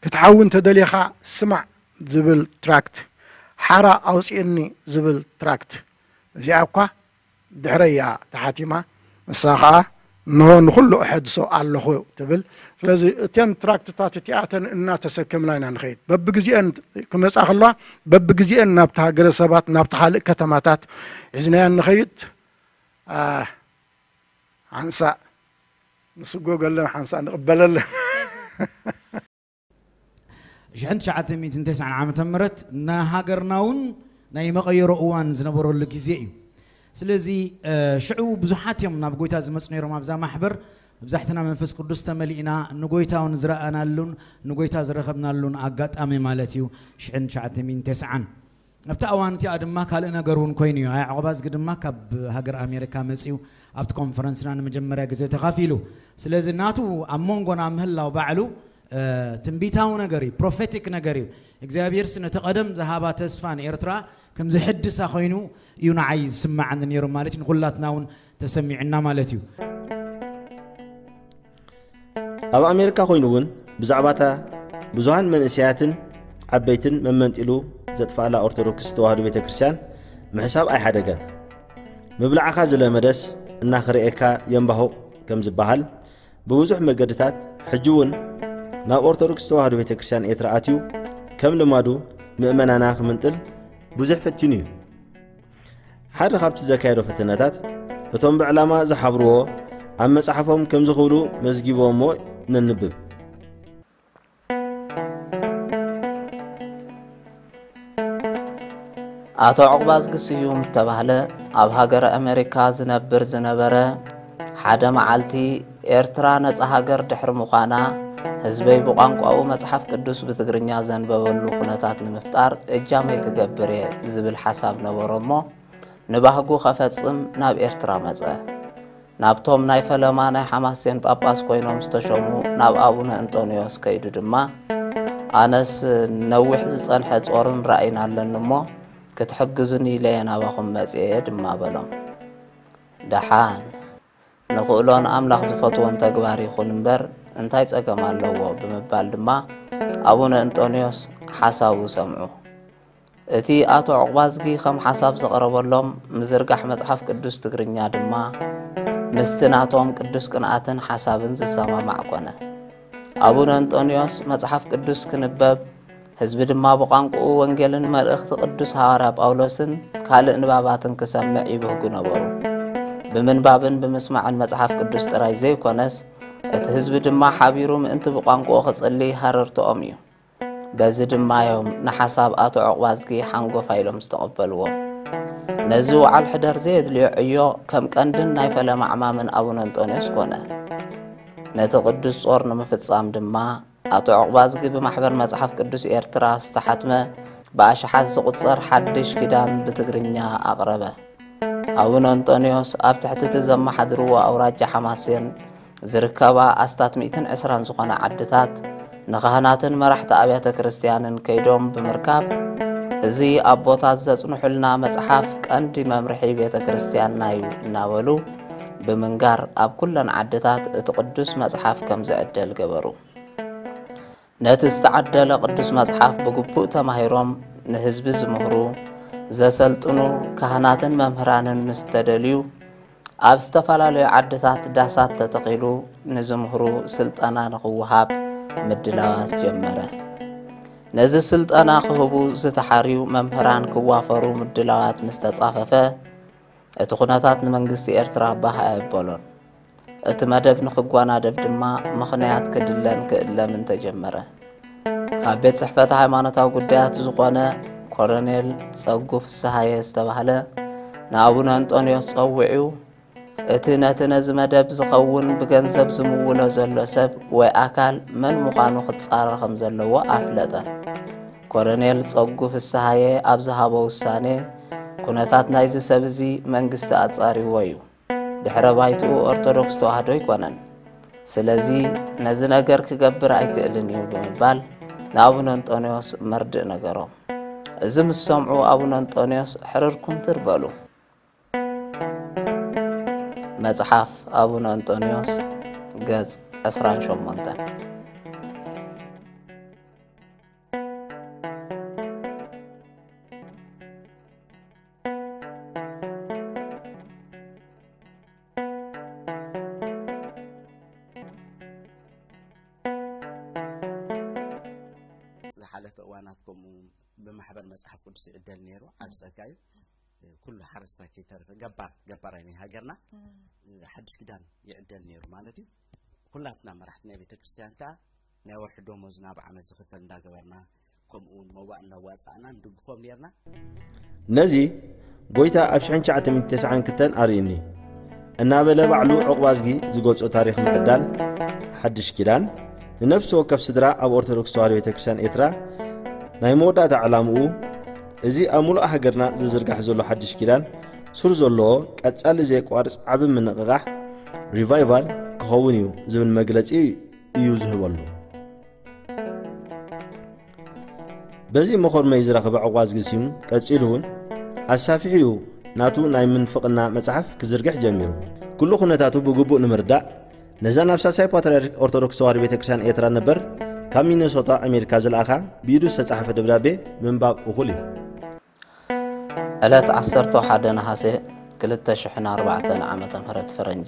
ክትሓዊ እንተደሊኻ ስማዕ ዝብል ትራክት። ሓራ ኣውፅእኒ ዝብል ትራክት። እዚኣ እኳ ድሕረይ እያ ተሓቲማ። ንሳ ኸዓ፣ እንሆ ንኹሉ እሐድሶ ኣለኹ ትብል። ስለዚ እተን ትራክትታት እቲኣተን እናተሰከምና ኢና ንኸይድ። በብግዜአን ክመጻ ከለዋ፣ በብግዜአን ናብቲ ሃገረ ሰባት፣ ናብቲ ካልእ ከተማታት ሒዝናየን ንኸይድ። ኣ፣ ሓንሳእ ንስጎገለን፣ ሓንሳእ ንቕበለለን። ሽሕን ትሽዓተ ሚእትን ተስዓን ዓመተ ምህረት ንሃገርና እውን ናይ መቐየሮ እዋን ዝነበረሉ ግዜ እዩ። ስለዚ፣ እ፣ ሽዑ ብዙሓት እዮም ናብ ጎይታ ዝመፁ ነይሮም። ኣብዛ ማሕበር መብዛሕትና መንፈስ ቅዱስ ተመሊእና፣ ንጎይታ እውን ዝረኣናሉን ንጎይታ ዝረኸብናሉን ኣጋጣሚ ማለት እዩ። ሽሕን ትሽዓተ ሚእትን ተስዓን ኣብታ እዋን እቲኣ ድማ ካልእ ነገር እውን ኮይኑ እዩ። ኣያ ዑቕባዝጊ ድማ ካብ ሃገር ኣሜሪካ መፂኡ ኣብቲ ኮንፈረንስና ንመጀመርያ ግዜ ተኻፊሉ። ስለዚ ናቱ ኣብ መንጎና ምህላው ባዕሉ፣ እ፣ ትንቢታዊ ነገር እዩ፣ ፕሮፌቲክ ነገር እዩ። እግዚኣብሔርስ ነቲ ቀደም ዝሃባ ተስፋ ንኤርትራ ከም ዝሕድሳ ኮይኑ እዩ ንዓይ ዝስምዓኒ ነይሩ ማለት እዩ። ንኹላትና እውን ተሰሚዑና ማለት እዩ። ኣብ ኣሜሪካ ኮይኑ እውን ብዛዕባታ ብዙሃን መንእሰያትን ዓበይትን መመንጢሉ ዘጥፍኣላ ኦርቶዶክስ ተዋህዶ ቤተ ክርስቲያን ምሕሳብ ኣይሓደገን። ምብላዕኻ ዝለመደስ እናኽርኤካ የንባሁቕ ከም ዝበሃል፣ ብብዙሕ መገድታት ሕጂ እውን ናብ ኦርቶዶክስ ተዋህዶ ቤተ ክርስቲያን ኤርትራ ኣትዩ ከም ልማዱ ምእመናና ክምንጥል ብዙሕ ፈቲኑ እዩ። ሓደ ካብቲ ዘካየዶ ፈተነታት፣ እቶም ብዕላማ ዝሓብርዎ ኣብ መጽሓፎም ከምዚ ክብሉ መዝጊቦሞ ነንብብ። ኣቶ ዑቕባዝጊ ስዩም እተባህለ ኣብ ሃገረ ኣመሪካ ዝነብር ዝነበረ፣ ሓደ መዓልቲ ኤርትራ ነጻ ሃገር ድሕሪ ምዃና፣ ህዝበይ ብቋንቋኡ መጽሓፍ ቅዱስ ብትግርኛ ዘንበበሉ ኩነታት ንምፍጣር እጃመይ ክገብር እየ ዝብል ሓሳብ ነበሮ እሞ፣ ንባህጉ ኸፈጽም ናብ ኤርትራ መጸ። ናብቶም ናይ ፈለማ ናይ ሓማሴን ጳጳስ ኮይኖም ዝተሾሙ ናብ ኣቡነ እንጦንዮስ ከይዱ ድማ፣ ኣነስ ነዊሕ ዝጸንሐ ጾርን ራእይን ኣለኒ እሞ፣ ክትሕግዙኒ ኢለ እየ ናባኹም መጺኤ ድማ በሎም። ደሓን፣ ንኽእሎን ኣምላኽ ዝፈትዎን ተግባር ይኹን እምበር እንታይ ጸገም ኣለዎ? ብምባል ድማ ኣቡነ እንጦንዮስ ሓሳቡ ሰምዑ። እቲ ኣቶ ዑቕባዝጊ ከም ሓሳብ ዘቕረበሎም ምዝርጋሕ መጽሓፍ ቅዱስ ትግርኛ ድማ ምስቲ ናቶም ቅዱስ ቅንኣትን ሓሳብን ዝሰማማዕ ኮነ። ኣቡነ እንጦንዮስ መጽሓፍ ቅዱስ ክንበብ፣ ህዝቢ ድማ ብቋንቋኡ ወንጌልን መልእኽቲ ቅዱስ ሃዋርያ ጳውሎስን ካልእ ንባባትን ክሰምዕ ይብህጉ ነበሩ። ብምንባብን ብምስማዕን መጽሓፍ ቅዱስ ጥራይ ዘይኮነስ፣ እቲ ህዝቢ ድማ ሓቢሩ ምእንቲ ብቋንቋኡ ክጽሊ ሃረርትኦም እዩ። በዚ ድማ እዮም ንሓሳብ ኣቶ ዑቕባዝጊ ሓንጎፋ ኢሎም ዝተቐበልዎ። ነዚ ወዓል ሕደር ዘየድልዮ ዕዮ ከም ቀንድን ናይ ፈለማ ዕማምን ኣቡነ እንጦንዮስ ኮነ። ነቲ ቅዱስ ጾር ንምፍጻም ድማ ኣቶ ዑቕባዝጊ ብማሕበር መጽሓፍ ቅዱስ ኤርትራ ዝተሓትመ ብኣሽሓት ዝቑጸር ሓድሽ ኪዳን ብትግርኛ ኣቕረበ። ኣቡነ እንጦንዮስ ኣብ ትሕቲ እቲ ዘመሓድርዎ ኣውራጃ ሓማሴን ዝርከባ ኣስታት ሚእትን ዕስራን ዝኾና ዓድታት ንኻህናትን መራሕቲ ኣብያተ ክርስትያንን ከይዶም ብምርካብ፣ እዚ ኣቦታት ዘጽንሑልና መጽሓፍ ቀንዲ መምርሒ ቤተ ክርስትያንና እዩ እናበሉ ብምንጋር ኣብ ኩለን ዓድታት እቲ ቅዱስ መጽሓፍ ከም ዝዕደል ገበሩ። ነቲ ዝተዓደለ ቅዱስ መጽሓፍ ብግቡእ ተማሂሮም ንህዝቢ ዝምህሩ፣ ዘሰልጥኑ ካህናትን መምህራንን ምስ ተደልዩ፣ ኣብ ዝተፈላለዩ ዓድታት ዳሳት ተተኺሉ ንዝምህሩ ስልጠና ንኽወሃብ ምድላዋት ጀመረ። ነዚ ስልጠና ክህቡ ዝተሓርዩ መምህራን ክዋፈሩ ምድላዋት ምስ ተጻፈፈ፣ እቲ ኩነታት ንመንግስቲ ኤርትራ ባህ ኣየበሎን። እቲ መደብ ንኽጓናደብ ድማ ምኽንያት ክድለን ክእለምን ተጀመረ። ካብ ቤት ጽሕፈት ሃይማኖታዊ ጉዳያት ዝኾነ ኮሎኔል ጸጉ ፍስሃየ ዝተባህለ ንኣቡነ እንጦንዮስ ጸዊዑ፣ እቲ ነቲ ነዚ መደብ ዝኸውን ብገንዘብ ዝምውሎ ዘሎ ሰብ ወይ ኣካል መን ምዃኑ ክጻረ ከም ዘለዎ ኣፍለጠ። ኮሎኔል ጸጉ ፍስሃየ ኣብ ዝሃቦ ውሳኔ፣ ኩነታት ናይዚ ሰብ እዚ መንግስቲ ኣጻሪዎ እዩ። ድሕረ ባይትኡ ኦርቶዶክስ ተዋህዶ ኣይኮነን። ስለዚ ነዚ ነገር ክገብር ኣይክእልን እዩ ብምባል ንኣቡነ እንጦንዮስ መርድእ ነገሮም። እዚ ምስ ሰምዑ ኣቡነ እንጦንዮስ ሕርር ኩምትር በሉ። መጽሓፍ ኣቡነ እንጦንዮስ ገጽ ዕስራን ሸሞንተን። ዝሓለፈ እዋናት ከምኡ ብማሕበር መጽሓፍ ቅዱስ ይዕደል ነይሩ። ዓብ ጸጋ እዩ። ኩሉ ሓረስታይ ከይተረፈ ገባር ገባራይ ናይ ሃገርና ሓድሽ ኪዳን ይዕደል ነይሩ ማለት እዩ። ኩላትና መራሕቲ ናይ ቤተ ክርስቲያን ከዓ ናይ ወርሒ ደሞዝና ብዓመት ዝኽፈል እንዳገበርና ከምኡ እውን መዋእ እናዋፃእና ንድግፎም ነርና። ነዚ ጎይታ ኣብ ሽሕን ትሽዓተ ሚእትን ተስዓን ክልተን ኣርእዩኒ እናበለ ባዕሉ ዕቑባዝጊ ዝገልጾ ታሪኽ ምዕዳል ሓድሽ ኪዳን ንነፍሲ ወከፍ ስድራ ኣብ ኦርቶዶክስ ተዋህዶ ቤተ ክርስቲያን ኤርትራ ናይ መወዳእታ ዕላምኡ እዚ ኣብ ሙሉእ ሃገርና ዝዝርጋሕ ዘሎ ሓድሽ ኪዳን ሱር ዘለዎ ቀጻሊ ዘየቋርጽ ዓቢ ምንቕቓሕ ሪቫይቫል ክኸውን እዩ ዝብል መግለጺ እዩ ዝህበሉ። በዚ መኾርመይ ዝረኸበ ዕቑባዝጊ ሲም ቀጺሉ እውን ኣሳፊሑ እዩ ናቱ ናይ ምንፍቕና መጽሓፍ ክዝርግሕ ጀሚሩ። ኩሉ ኩነታቱ ብግቡእ ንምርዳእ ነዛ ናብ ሳልሳይ ፓትርያርክ ኦርቶዶክስ ተዋህዶ ቤተ ክርስቲያን ኤርትራ ነበር ካብ ሚነሶታ ኣሜሪካ ዝለኣኻ ብኢዱ ዝተጻሕፈ ደብዳቤ ምንባብ እኹል እዩ። ዕለት ዓሰርተ ሓደ ነሓሰ ክልተ ሽሕን ኣርባዕተን ዓመተ ምህረት ፈረንጂ፣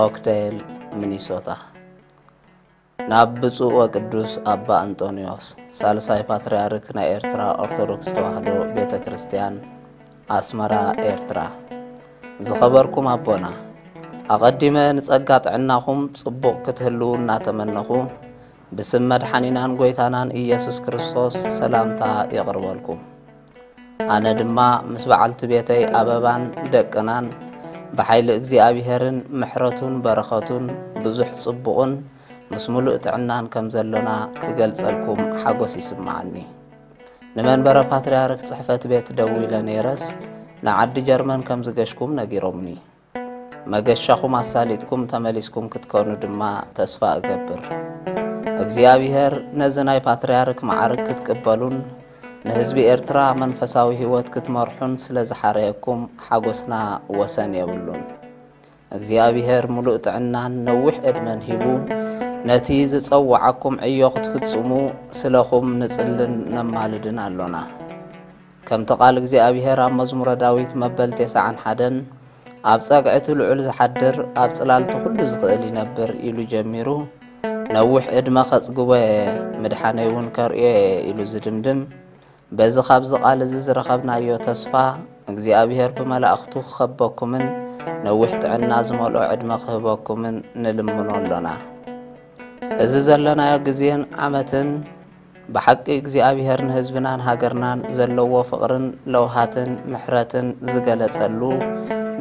ኦክደል፣ ሚኒሶታ። ናብ ብፁዕ ወቅዱስ ኣባ እንጦንዮስ፣ ሳልሳይ ፓትርያርክ ናይ ኤርትራ ኦርቶዶክስ ተዋህዶ ቤተ ክርስቲያን፣ ኣስመራ፣ ኤርትራ። ዝኸበርኩም ኣቦና፣ ኣቐዲመ ንጸጋ ጥዕናኹም ጽቡቕ ክትህልዉ እናተመነኹ፣ ብስም መድሓኒናን ጐይታናን ኢየሱስ ክርስቶስ ሰላምታ የቕርበልኩም። ኣነ ድማ ምስ በዓልቲ ቤተይ ኣበባን ደቅናን ብሓይሊ እግዚኣብሄርን ምሕረቱን በረኸቱን ብዙሕ ጽቡቕን ምስ ምሉእ ጥዕናን ከም ዘሎና ክገልጸልኩም ሓጎስ ይስምዓኒ። ንመንበረ ፓትርያርክ ጽሕፈት ቤት ደዊለ ነይረስ ንዓዲ ጀርመን ከም ዝገሽኩም ነጊሮምኒ። መገሻኹም ኣሳሊጥኩም ተመሊስኩም ክትኮኑ ድማ ተስፋ እገብር። እግዚኣብሄር ነዚ ናይ ፓትርያርክ መዓርግ ክትቅበሉን ንህዝቢ ኤርትራ መንፈሳዊ ህይወት ክትመርሑን ስለ ዝሓረየኩም ሓጎስና ወሰን የብሉን። እግዚኣብሄር ምሉእ ጥዕናን ነዊሕ ዕድመን ሂቡ ነቲ ዝጸውዓኩም ዕዮ ክትፍጽሙ ስለኹም ንጽልን ነማልድን ኣሎና። ከምቲ ቃል እግዚኣብሄር ኣብ መዝሙረ ዳዊት መበል ተስዓን ሓደን፣ "ኣብ ጸግዒ እቲ ልዑል ዝሓድር፣ ኣብ ጽላል እቲ ኩሉ ዝኽእል ይነብር" ኢሉ ጀሚሩ፣ "ነዊሕ ዕድመ ከጽግቦ እየ፣ ምድሓነይ እውን ከርእዮ እየ" ኢሉ ዝድምድም፣ በዚ ካብዚ ቃል እዚ ዝረኸብናዮ ተስፋ፣ እግዚኣብሄር ብመላእኽቱ ክኸበኩምን ነዊሕ ጥዕና ዝመልኦ ዕድመ ክህበኩምን ንልምኖ ኣሎና። እዚ ዘለናዮ ግዜን ዓመትን ብሓቂ እግዚኣብሄር ንህዝብናን ሃገርናን ዘለዎ ፍቕርን ለውሃትን ምሕረትን ዝገለጸሉ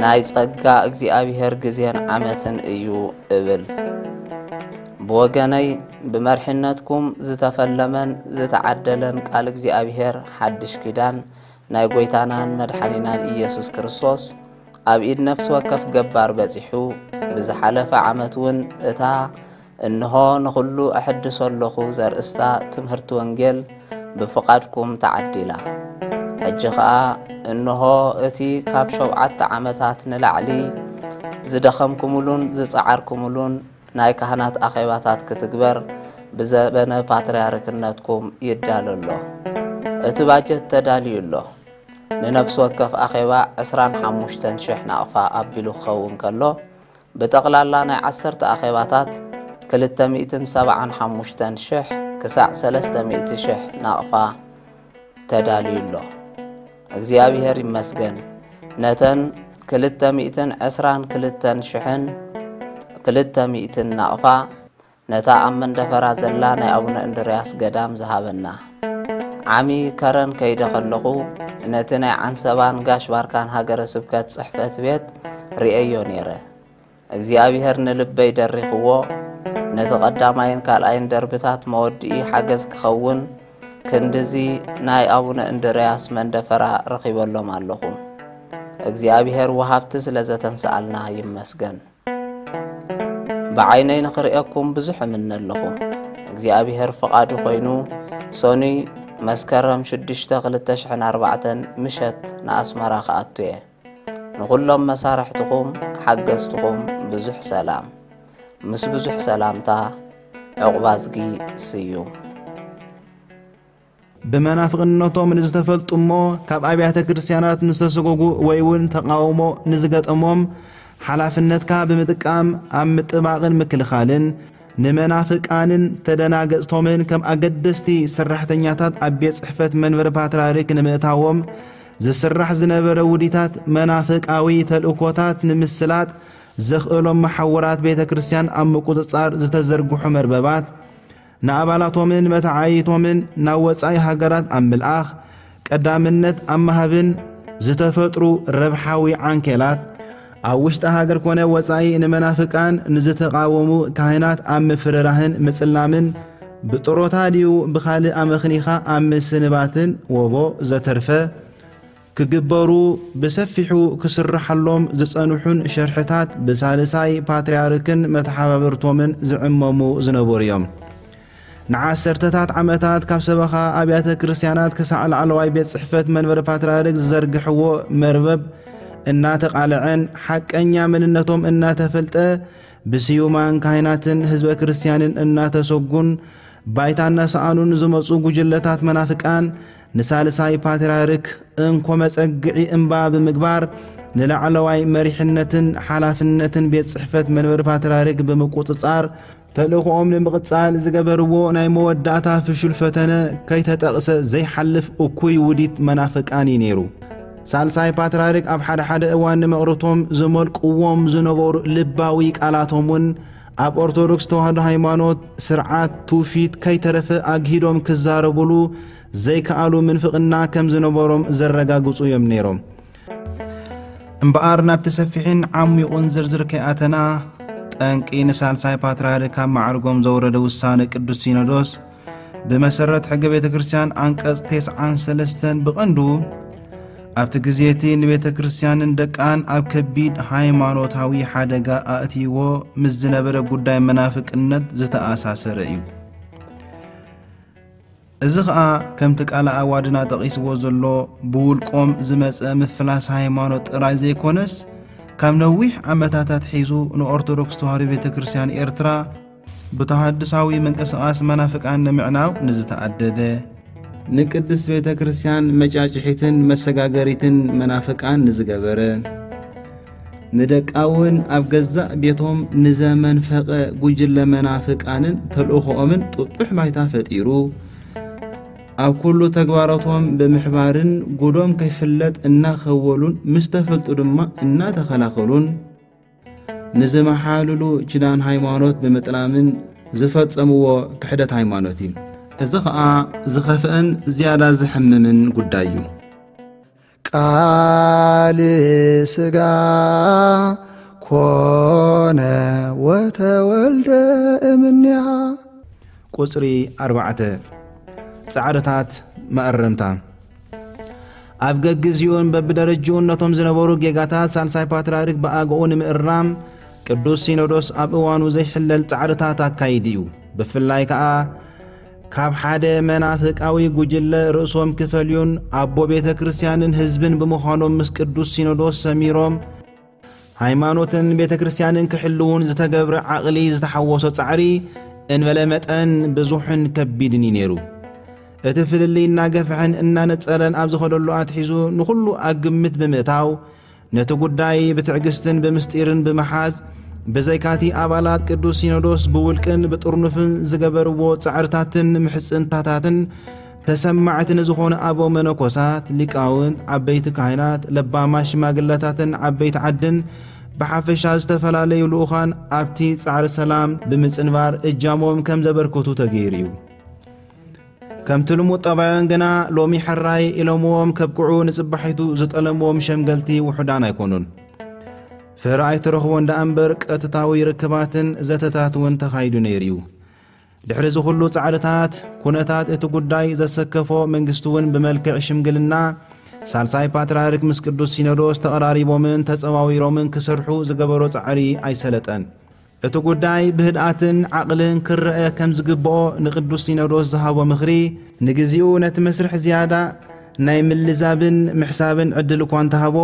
ናይ ጸጋ እግዚኣብሄር ግዜን ዓመትን እዩ እብል። ብወገነይ ብመርሒነትኩም ዝተፈለመን ዝተዓደለን ቃል እግዚኣብሄር ሓድሽ ኪዳን ናይ ጐይታናን መድሓኒናን ኢየሱስ ክርስቶስ ኣብ ኢድ ነፍሲ ወከፍ ገባር በጺሑ፣ ብዝሓለፈ ዓመት እውን እታ "እንሆ ንኹሉ እሕድሶ ኣለኹ" ዘርእስታ ትምህርቲ ወንጌል ብፍቓድኩም ተዓዲላ። ሕጂ ኸኣ እንሆ እቲ ካብ ሸውዓተ ዓመታት ንላዕሊ ዝደኸምኩምሉን ዝጸዓርኩምሉን ናይ ካህናት ኣኼባታት ክትግበር ብዘበነ ፓትርያርክነትኩም ይዳሎ ኣሎ። እቲ ባጀት ተዳልዩ ኣሎ። ንነፍሲ ወከፍ ኣኼባ ዕስራን ሓሙሽተን ሽሕ ናቕፋ ኣቢሉ ክኸውን ከሎ፣ ብጠቕላላ ናይ ዓሰርተ ኣኼባታት ክልተ ሚእትን ሰብዓን ሓሙሽተን ሽሕ ክሳዕ ሰለስተ ሚእቲ ሽሕ ናቕፋ ተዳልዩ ኣሎ። እግዚኣብሔር ይመስገን፣ ነተን ክልተ ሚእትን ዕስራን ክልተን ሽሕን ክልተ ሚእትን ናቕፋ ነታ ኣብ መንደፈራ ዘላ ናይ ኣቡነ እንድርያስ ገዳም ዝሃበና። ዓሚ ከረን ከይደ ከለኹ፣ ነቲ ናይ ዓንሰባን ጋሽ ባርካን ሃገረ ስብከት ጽሕፈት ቤት ርእየዮ ነይረ። እግዚኣብሔር ንልበይ ደሪኽዎ፣ ነቲ ቀዳማይን ካልኣይን ደርብታት መወድኢ ሓገዝ ክኸውን፣ ክንድዚ ናይ ኣቡነ እንድርያስ መንደፈራ ረኺበሎም ኣለኹ። እግዚኣብሔር ወሃብቲ ስለ ዘተንስኣልና ይመስገን። ብዓይነይ ንኽርእየኩም ብዙሕ እምነ ኣለኹ። እግዚኣብሔር ፍቓዱ ኮይኑ፣ ሰኑይ መስከረም ሽዱሽተ ክልተ ሽሕን ኣርባዕተን ምሸት ንኣስመራ ክኣቱ እየ። ንኹሎም መሳርሕትኹም ሓገዝትኹም ብዙሕ ሰላም። ምስ ብዙሕ ሰላምታ፣ ዕቑባዝጊ ስዩም። ብመናፍቕነቶም ንዝተፈልጡ እሞ ካብ ኣብያተ ክርስቲያናት ንዝተሰጎጉ ወይ እውን ተቃውሞ ንዝገጠሞም ሓላፍነትካ ብምጥቃም ኣብ ምጥባቕን ምክልኻልን ንመናፍቃንን ተደናገጽቶምን ከም ኣገደስቲ ሰራሕተኛታት ኣብ ቤት ጽሕፈት መንበሪ ፓትርያርክ ንምእታዎም ዝስራሕ ዝነበረ ውዲታት መናፍቃዊ ተልእኮታት ንምስላጥ ዘኽእሎም መሓውራት ቤተ ክርስቲያን ኣብ ምቁጽጻር ዝተዘርግሑ መርበባት ንኣባላቶምን መተዓይቶምን ናብ ወጻኢ ሃገራት ኣብ ምልኣኽ ቀዳምነት ኣብ ምሃብን ዝተፈጥሩ ረብሓዊ ዓንኬላት ኣብ ውሽጢ ሃገር ኮነ ወጻኢ ንመናፍቃን ንዝተቓወሙ ካህናት ኣብ ምፍርራህን ምጽላምን ብጥሮታ ድዩ ብኻልእ ኣመኽኒኻ ኣብ ምስንባትን ወቦ ዘተርፈ ክግበሩ ብሰፊሑ ክስርሓሎም ዝጸንሑን ሸርሕታት ብሳልሳይ ፓትርያርክን መተሓባበርቶምን ዝዕመሙ ዝነበሩ እዮም። ንዓሰርተታት ዓመታት ካብ ሰበኻ ኣብያተ ክርስቲያናት ክሳዕ ላዕለዋይ ቤት ጽሕፈት መንበሪ ፓትርያርክ ዝዘርግሕዎ መርበብ እናተቓልዐን ሓቀኛ መንነቶም እናተፈልጠ ብስዩማን ካህናትን ህዝበ ክርስቲያንን እናተሰጉን ባይታ እናሰኣኑን ዝመጹ ጉጅለታት መናፍቃን ንሳልሳይ ፓትርያርክ እንኮ መጸግዒ እምባ ብምግባር ንላዕለዋይ መሪሕነትን ሓላፍነትን ቤት ጽሕፈት መንበሪ ፓትርያርክ ብምቁጽጻር ተልእኾኦም ንምቕጻል ዝገበርዎ ናይ መወዳእታ ፍሹል ፈተነ ከይተጠቕሰ ዘይሓልፍ እኩይ ውዲት መናፍቃን እዩ ነይሩ። ሳልሳይ ፓትርያርክ ኣብ ሓደ ሓደ እዋን ንመቕርቶም ዝመልቅዎም ዝነበሩ ልባዊ ቃላቶም እውን ኣብ ኦርቶዶክስ ተዋህዶ ሃይማኖት ስርዓት ትውፊት ከይተረፈ ኣግሂዶም ክዛረቡሉ ዘይከኣሉ ምንፍቕና ከም ዝነበሮም ዘረጋግጹ እዮም ነይሮም። እምበኣር ናብቲ ሰፊሕን ዓሚቑን ዝርዝር ከይኣተና ጠንቂ ንሳልሳይ ፓትርያርክ ካብ ማዕርጎም ዘውረደ ውሳነ ቅዱስ ሲኖዶስ ብመሰረት ሕገ ቤተ ክርስቲያን ዓንቀጽ ተስዓን ሰለስተን ብቐንዱ ኣብቲ ግዜ እቲ ንቤተ ክርስቲያንን ደቃን ኣብ ከቢድ ሃይማኖታዊ ሓደጋ ኣእትይዎ ምስ ዝነበረ ጉዳይ መናፍቅነት ዝተኣሳሰረ እዩ። እዚ ኸኣ ከምቲ ቃለ ኣዋድና ጠቒስዎ ዘሎ ብውልቆም ዝመጸ ምፍላስ ሃይማኖት ጥራይ ዘይኮነስ ካብ ነዊሕ ዓመታታት ሒዙ ንኦርቶዶክስ ተዋህዶ ቤተ ክርስቲያን ኤርትራ ብተሃድሳዊ ምንቅስቓስ መናፍቃን ንምዕናው ንዝተኣደደ ንቅድስት ቤተ ክርስቲያን መጫጭሒትን መሰጋገሪትን መናፍቃን ንዝገበረ ንደቃውን ኣብ ገዛእ ቤቶም ንዘመንፈቐ ጉጅለ መናፍቃንን ተልእኾኦምን ጥጡሕ ባይታ ፈጢሩ ኣብ ኩሉ ተግባራቶም ብምሕባርን ጉዶም ከይፍለጥ እናኸወሉን ምስ ተፈልጡ ድማ እናተኸላኸሉን ንዝመሓልሉ ኪዳን ሃይማኖት ብምጥላምን ዝፈጸምዎ ክሕደት ሃይማኖት እዩ። እዚ ኸኣ ዝኸፍአን ዝያዳ ዘሕምምን ጉዳይ እዩ። ቃል ስጋ ኮነ ወተወልደ እምንያ። ቁጽሪ ኣርባዕተ ጻዕርታት መኣረምታ። ኣብ ገግዚኡን በብደረጅኡን ነቶም ዝነበሩ ጌጋታት ሳልሳይ ፓትርያርክ ብኣግኡ ንምእራም ቅዱስ ሲኖዶስ ኣብ እዋኑ ዘይሕለል ጻዕርታት ኣካይዱ እዩ። ብፍላይ ከኣ ካብ ሓደ መናፍቃዊ ጉጅለ ርእሶም ክፈልዩን ኣቦ ቤተ ክርስቲያንን ህዝብን ብምዃኖም ምስ ቅዱስ ሲኖዶስ ሰሚሮም ሃይማኖትን ቤተ ክርስቲያንን ክሕልዉን ዝተገብረ ዓቕሊ ዝተሓወሶ ጻዕሪ እንበለ መጠን ብዙሕን ከቢድን እዩ ነይሩ። እቲ ፍልልይ እናገፍሐን እናነጸረን ኣብ ዝኸደሉ ኣትሒዙ ንኹሉ ኣብ ግምት ብምእታው ነቲ ጉዳይ ብትዕግስትን ብምስጢርን ብምሓዝ ብዘይካቲ ኣባላት ቅዱስ ሲኖዶስ ብውልቅን ብጥርኑፍን ዝገበርዎ ጻዕርታትን ምሕጽንታታትን ተሰማዕቲ ንዝኾኑ ኣበው መነኮሳት፣ ሊቃውንት፣ ዓበይቲ ካህናት፣ ለባማት ሽማግለታትን ዓበይቲ ዓድን ብሓፈሻ ዝተፈላለዩ ልኡኻን ኣብቲ ጻዕሪ ሰላም ብምጽንባር እጃሞም ከም ዘበርክቱ ተገይሩ እዩ። ከምቲ ልሙድ ጠባዮም ግና ሎሚ ሕራይ ኢሎምዎም ከብቅዑ ንጽባሒቱ ዝጠለምዎም ሸምገልቲ ውሑዳን ኣይኮኑን። ፍረ ኣይትረኽቦ እንዳ እምበር ቀጥታዊ ርክባትን ዘተታት እውን ተኻይዱ ነይሩ እዩ። ድሕሪ እዚ ኩሉ ጻዕርታት፣ ኩነታት እቲ ጉዳይ ዘሰከፎ መንግስቲ እውን ብመልክዕ ሽምግልና ሳልሳይ ፓትርያርክ ምስ ቅዱስ ሲኖዶስ ተቐራሪቦምን ተጸዋዊሮምን ክሰርሑ ዝገበሮ ጻዕሪ ኣይሰለጠን። እቲ ጉዳይ ብህድኣትን ዓቕልን ክረአ ከም ዝግብኦ ንቅዱስ ሲኖዶስ ዝሃቦ ምኽሪ፣ ንግዚኡ ነቲ መስርሕ ዝያዳ ናይ ምልዛብን ምሕሳብን ዕድል እኳ እንተሃቦ፣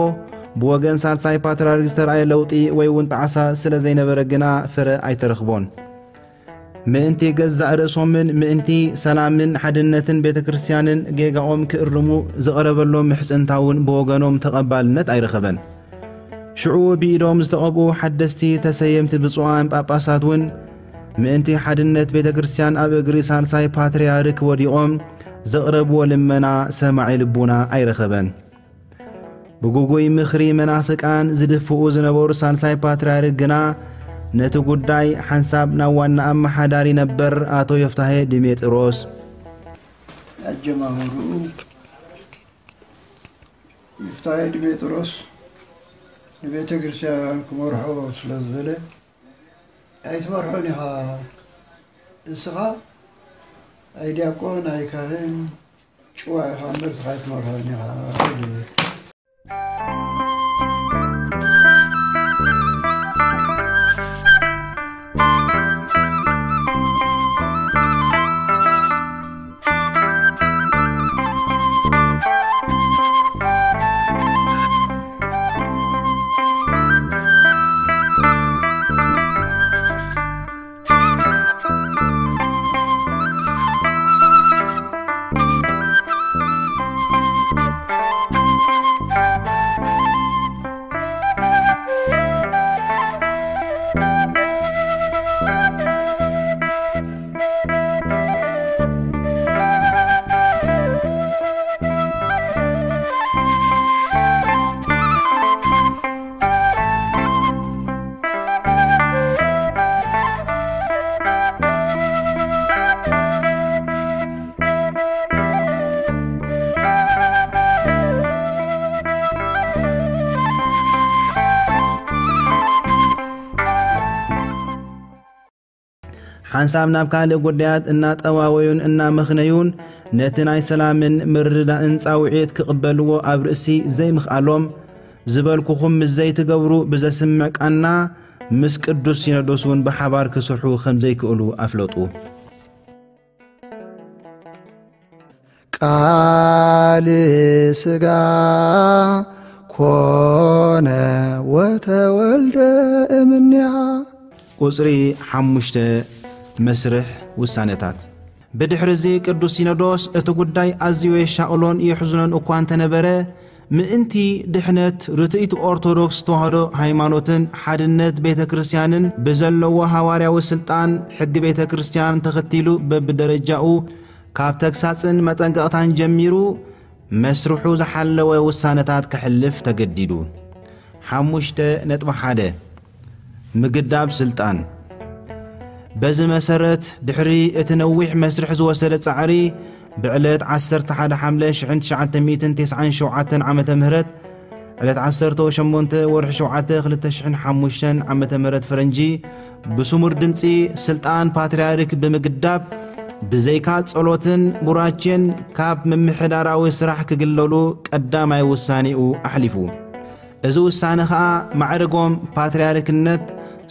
ብወገን ሳልሳይ ፓትርያርክ ዝተረኣየ ለውጢ ወይ እውን ጣዕሳ ስለ ዘይነበረ ግና ፍረ ኣይተረኽቦን። ምእንቲ ገዛእ ርእሶምን ምእንቲ ሰላምን ሓድነትን ቤተ ክርስቲያንን ጌጋኦም ክእርሙ ዝቐረበሎም ምሕጽንታ እውን ብወገኖም ተቐባልነት ኣይረኸበን። ሽዑ ብኢዶም ዝተቐብኡ ሓደስቲ ተሰየምቲ ብፁዓን ጳጳሳት እውን ምእንቲ ሓድነት ቤተ ክርስቲያን ኣብ እግሪ ሳልሳይ ፓትርያርክ ወዲቖም ዘቕረብዎ ልመና ሰማዒ ልቡና ኣይረኸበን። ብግጉይ ምኽሪ መናፍቃን ዝድፍኡ ዝነበሩ ሳልሳይ ፓትርያርክ ግና ነቲ ጉዳይ ሓንሳብ ናብ ዋና ኣመሓዳሪ ነበር ኣቶ ዮፍታሄ ድሜጥሮስ ኣጀማምርኡ ዮፍታሄ ድሜጥሮስ ንቤተ ክርስቲያን ክመርሖ ስለ ዝበለ፣ "ኣይትመርሖን ኢኻ፣ እስኻ ኣይ ዲያቆን ኣይ ካህን ጭዋ ኢኻ እምበር፣ እስኻ ኣይትመርሖን ኢኻ" ኢሉ። ሓንሳብ ናብ ካልእ ጉዳያት እናጠዋወዩን እናመኽነዩን ነቲ ናይ ሰላምን ምርድዳእን ጻውዒት ክቕበልዎ ኣብ ርእሲ ዘይምኽኣሎም፣ ዝበልኩኹም ምስ ዘይትገብሩ ብዘስምዕ ቃና ምስ ቅዱስ ሲኖዶስ እውን ብሓባር ክሰርሑ ከም ዘይክእሉ ኣፍለጡ። ቃል ስጋ ኮነ ወተወልደ እምኔሃ። ቁጽሪ ሓሙሽተ፣ መስርሕ ውሳነታት። ብድሕሪ እዚ ቅዱስ ሲኖዶስ እቲ ጉዳይ ኣዝዩ የሻቕሎን የሕዝኖን እኳ እንተነበረ፣ ምእንቲ ድሕነት ርትዕቲ ኦርቶዶክስ ተዋህዶ ሃይማኖትን ሓድነት ቤተ ክርስቲያንን ብዘለዎ ሃዋርያዊ ስልጣን ሕጊ ቤተ ክርስቲያን ተኸቲሉ በብደረጃኡ ካብ ተግሳጽን መጠንቀቕታን ጀሚሩ መስርሑ ዝሓለወ ውሳነታት ከሕልፍ ተገዲዱ። ሓሙሽተ ነጥቢ ሓደ፣ ምግዳብ ስልጣን። በዚ መሰረት ድሕሪ እቲ ነዊሕ መስርሕ ዝወሰደ ጻዕሪ ብዕለት ዓሰርተ ሓደ ሓምለ ሽሕን ትሽዓተ ሚእትን ተስዓን ሸውዓተን ዓመተ ምህረት ዕለት ዓሰርተ ሸሞንተ ወርሒ ሸውዓተ ክልተ ሽሕን ሓሙሽተን ዓመተ ምህረት ፈረንጂ ብስሙር ድምጺ ስልጣን ፓትርያርክ ብምግዳብ ብዘይካ ጸሎትን ቡራኬን ካብ ምምሕዳራዊ ስራሕ ክግለሉ ቀዳማይ ውሳኔኡ ኣሕሊፉ። እዚ ውሳነ ኸኣ ማዕርጎም ፓትርያርክነት፣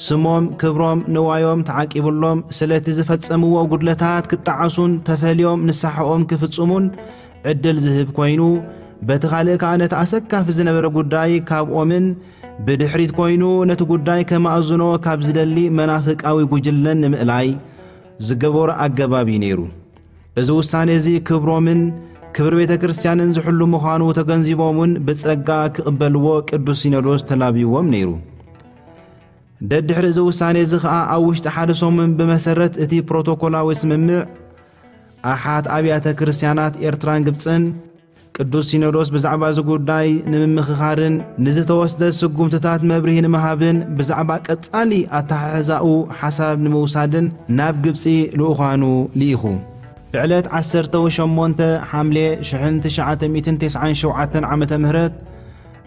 ስሞም፣ ክብሮም፣ ንዋዮም ተዓቂብሎም ስለቲ ዝፈጸምዎ ጉድለታት ክጠዓሱን ተፈልዮም ንስሓኦም ክፍጽሙን ዕድል ዝህብ ኮይኑ፣ በቲ ካልእ ከኣ ነቲ ኣሰካፊ ዝነበረ ጉዳይ ካብኦምን ብድሕሪት ኮይኑ ነቲ ጉዳይ ከማእዝኖ ካብ ዝደሊ መናፍቃዊ ጉጅለን ንምእላይ ዝገበሮ ኣገባብ እዩ ነይሩ። እዚ ውሳኔ እዚ ክብሮምን ክብሪ ቤተ ክርስቲያንን ዝሕሉ ምዃኑ ተገንዚቦም እውን ብጸጋ ክቕበልዎ ቅዱስ ሲኖዶስ ተላብይዎም ነይሩ። ደድሕሪ እዚ ውሳኔ እዚ ኸኣ ኣብ ውሽጢ ሓደ ሰሙን ብመሰረት እቲ ፕሮቶኮላዊ ስምምዕ ኣሓት ኣብያተ ክርስቲያናት ኤርትራን ግብጽን ቅዱስ ሲኖዶስ ብዛዕባ እዚ ጉዳይ ንምምኽኻርን ንዝተወስደ ስጉምትታት መብርሂ ንምሃብን ብዛዕባ ቀጻሊ ኣተሓሕዛኡ ሓሳብ ንምውሳድን ናብ ግብጺ ልኡኻኑ ልኢኹ። ብዕለት ዓሰርተ ሸሞንተ ሓምሌ ሽሕን ትሽዓተ ሚእትን ተስዓን ሸውዓተን ዓመተ ምህረት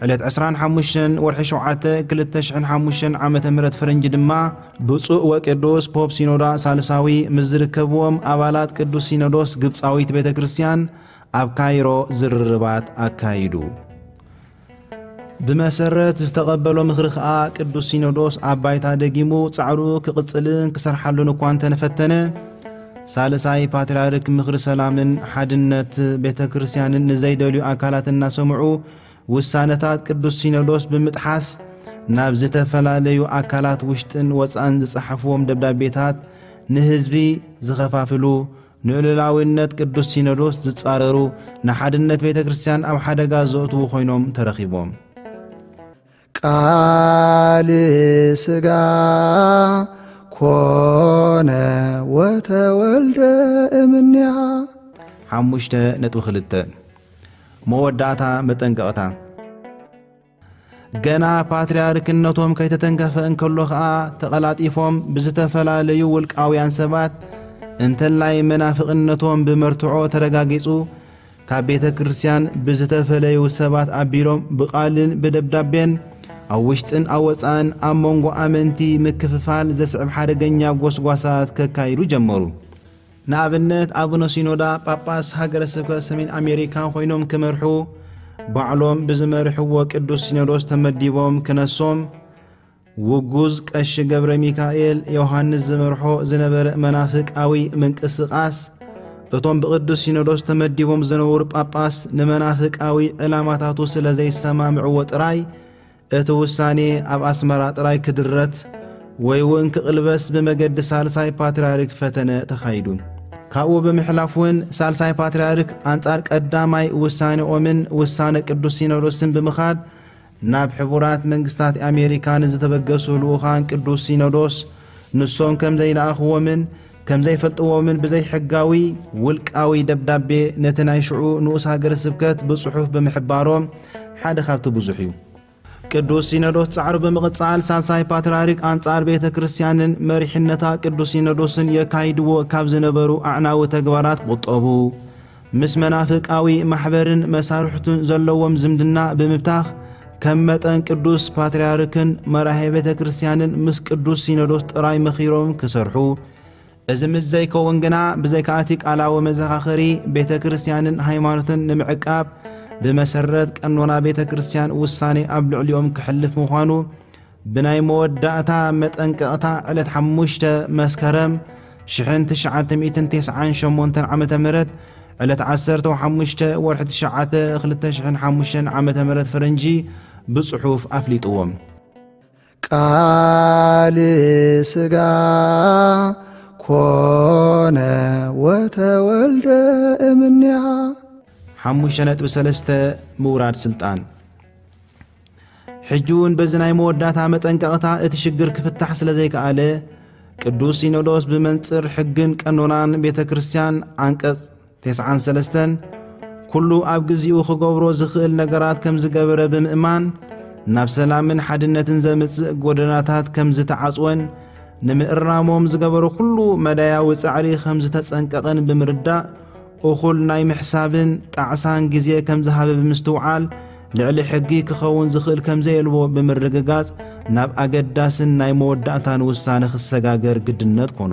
ዕለት ዕስራን ሓሙሽተን ወርሒ ሸውዓተ ክልተ ሽሕን ሓሙሽተን ዓመተ ምህረት ፈረንጂ ድማ ብፁዕ ወቅዱስ ፖፕ ሲኖዳ ሳልሳዊ ምስ ዝርከብዎም ኣባላት ቅዱስ ሲኖዶስ ግብፃዊት ቤተ ክርስቲያን ኣብ ካይሮ ዝርርባት ኣካይዱ። ብመሰረት ዝተቐበሎ ምኽሪ ኸኣ ቅዱስ ሲኖዶስ ኣብ ባይታ ደጊሙ ጻዕሩ ክቕጽልን ክሰርሓሉን እኳ እንተነፈተነ፣ ሳልሳይ ፓትርያርክ ምኽሪ ሰላምን ሓድነት ቤተ ክርስቲያንን ንዘይደልዩ ኣካላት እናሰምዑ ውሳነታት ቅዱስ ሲኖዶስ ብምጥሓስ ናብ ዝተፈላለዩ ኣካላት ውሽጥን ወጻእን ዝጸሓፍዎም ደብዳቤታት ንህዝቢ ዝኸፋፍሉ፣ ንልዑላዊነት ቅዱስ ሲኖዶስ ዝጻረሩ፣ ንሓድነት ቤተ ክርስቲያን ኣብ ሓደጋ ዘእትዉ ኮይኖም ተረኺቦም። ቃል ስጋ ኮነ ወተወልደ እምንያ። ሓሙሽተ ነጥቢ ክልተ። መወዳእታ መጠንቀቕታ። ገና ፓትርያርክነቶም ከይተተንከፈ እንከሎ ኸኣ ተቐላጢፎም ብዝተፈላለዩ ውልቃውያን ሰባት እንተላይ መናፍቕነቶም ብመርትዖ ተረጋጊጹ ካብ ቤተ ክርስቲያን ብዝተፈለዩ ሰባት ኣቢሎም ብቓልን ብደብዳቤን ኣብ ውሽጥን ኣብ ወጻእን ኣብ መንጎ ኣመንቲ ምክፍፋል ዘስዕብ ሓደገኛ ጎስጓሳት ከካይዱ ጀመሩ። ንኣብነት ኣቡነ ሲኖዳ ጳጳስ ሃገረ ስብከት ሰሜን ኣሜሪካ ኮይኖም ክመርሑ ባዕሎም ብዝመርሕዎ ቅዱስ ሲኖዶስ ተመዲቦም ክነሶም ውጉዝ ቀሺ ገብረ ሚካኤል ዮሃንስ ዝመርሖ ዝነበረ መናፍቃዊ ምንቅስቓስ እቶም ብቅዱስ ሲኖዶስ ተመዲቦም ዝነበሩ ጳጳስ ንመናፍቃዊ ዕላማታቱ ስለ ዘይሰማምዕዎ ጥራይ እቲ ውሳኔ ኣብ ኣስመራ ጥራይ ክድረት ወይ እውን ክቕልበስ ብመገዲ ሳልሳይ ፓትርያርክ ፈተነ ተኻይዱ። ካብኡ ብምሕላፍ እውን ሳልሳይ ፓትርያርክ ኣንጻር ቀዳማይ ውሳኔኦምን ውሳነ ቅዱስ ሲኖዶስን ብምኻድ ናብ ሕቡራት መንግስታት ኣሜሪካ ንዝተበገሱ ልኡኻን ቅዱስ ሲኖዶስ ንሶም ከም ዘይለኣኽዎምን ከም ዘይፈልጥዎምን ብዘይሕጋዊ ውልቃዊ ደብዳቤ ነቲ ናይ ሽዑ ንኡስ ሃገረ ስብከት ብጽሑፍ ብምሕባሮም ሓደ ካብቲ ብዙሕ እዩ። ቅዱስ ሲኖዶስ ጻዕሩ ብምቕጻል ሳልሳይ ፓትርያርክ ኣንጻር ቤተ ክርስቲያንን መሪሕነታ ቅዱስ ሲኖዶስን የካይድዎ ካብ ዝነበሩ ኣዕናዊ ተግባራት ቁጠቡ። ምስ መናፍቃዊ ማሕበርን መሳርሕቱን ዘለዎም ዝምድና ብምብታኽ ከም መጠን ቅዱስ ፓትርያርክን መራሄ ቤተ ክርስቲያንን ምስ ቅዱስ ሲኖዶስ ጥራይ መኺሮም ክሰርሑ። እዚ ምስ ዘይከውን ግና ብዘይካ እቲ ቃላዊ መዘኻኸሪ ቤተ ክርስቲያንን ሃይማኖትን ንምዕቃብ ብመሰረት ቀኖና ቤተ ክርስቲያን ውሳኔ ኣብ ልዕሊኦም ክሕልፍ ምዃኑ ብናይ መወዳእታ መጠንቀቕታ ዕለት ሓሙሽተ መስከረም ሽሕን ትሽዓተ ሚእትን ተስዓን ሸሞንተን ዓመተ ምህረት ዕለት ዓሰርተ ሓሙሽተ ወርሒ ትሽዓተ ክልተ ሽሕን ሓሙሽተን ዓመተ ምህረት ፈረንጂ ብጽሑፍ ኣፍሊጥዎም። ቃል ስጋ ኮነ ወተወልደ እምንያ። ሓሙሽተ ነጥቢ ሰለስተ። ምውራድ ስልጣን። ሕጂ እውን በዚ ናይ መወዳእታ መጠንቀቕታ እቲ ሽግር ክፍታሕ ስለ ዘይከኣለ ቅዱስ ሲኖዶስ ብመንጽር ሕግን ቀኖናን ቤተ ክርስቲያን ዓንቀጽ ተስዓን ሰለስተን ኩሉ ኣብ ግዚኡ ክገብሮ ዝኽእል ነገራት ከም ዝገበረ ብምእማን ናብ ሰላምን ሓድነትን ዘምጽእ ጎደናታት ከም ዝተዓጽወን ንምእራሞም ዝገበሮ ኩሉ መዳያዊ ጻዕሪ ከም ዝተጸንቀቐን ብምርዳእ እኹል ናይ ምሕሳብን ጣዕሳን ግዜ ከም ዝሃበ ብምስትውዓል ልዕሊ ሕጊ ክኸውን ዝኽእል ከም ዘየልዎ ብምርግጋጽ ናብ ኣገዳስን ናይ መወዳእታን ውሳነ ክሰጋገር ግድነት ኮኖ።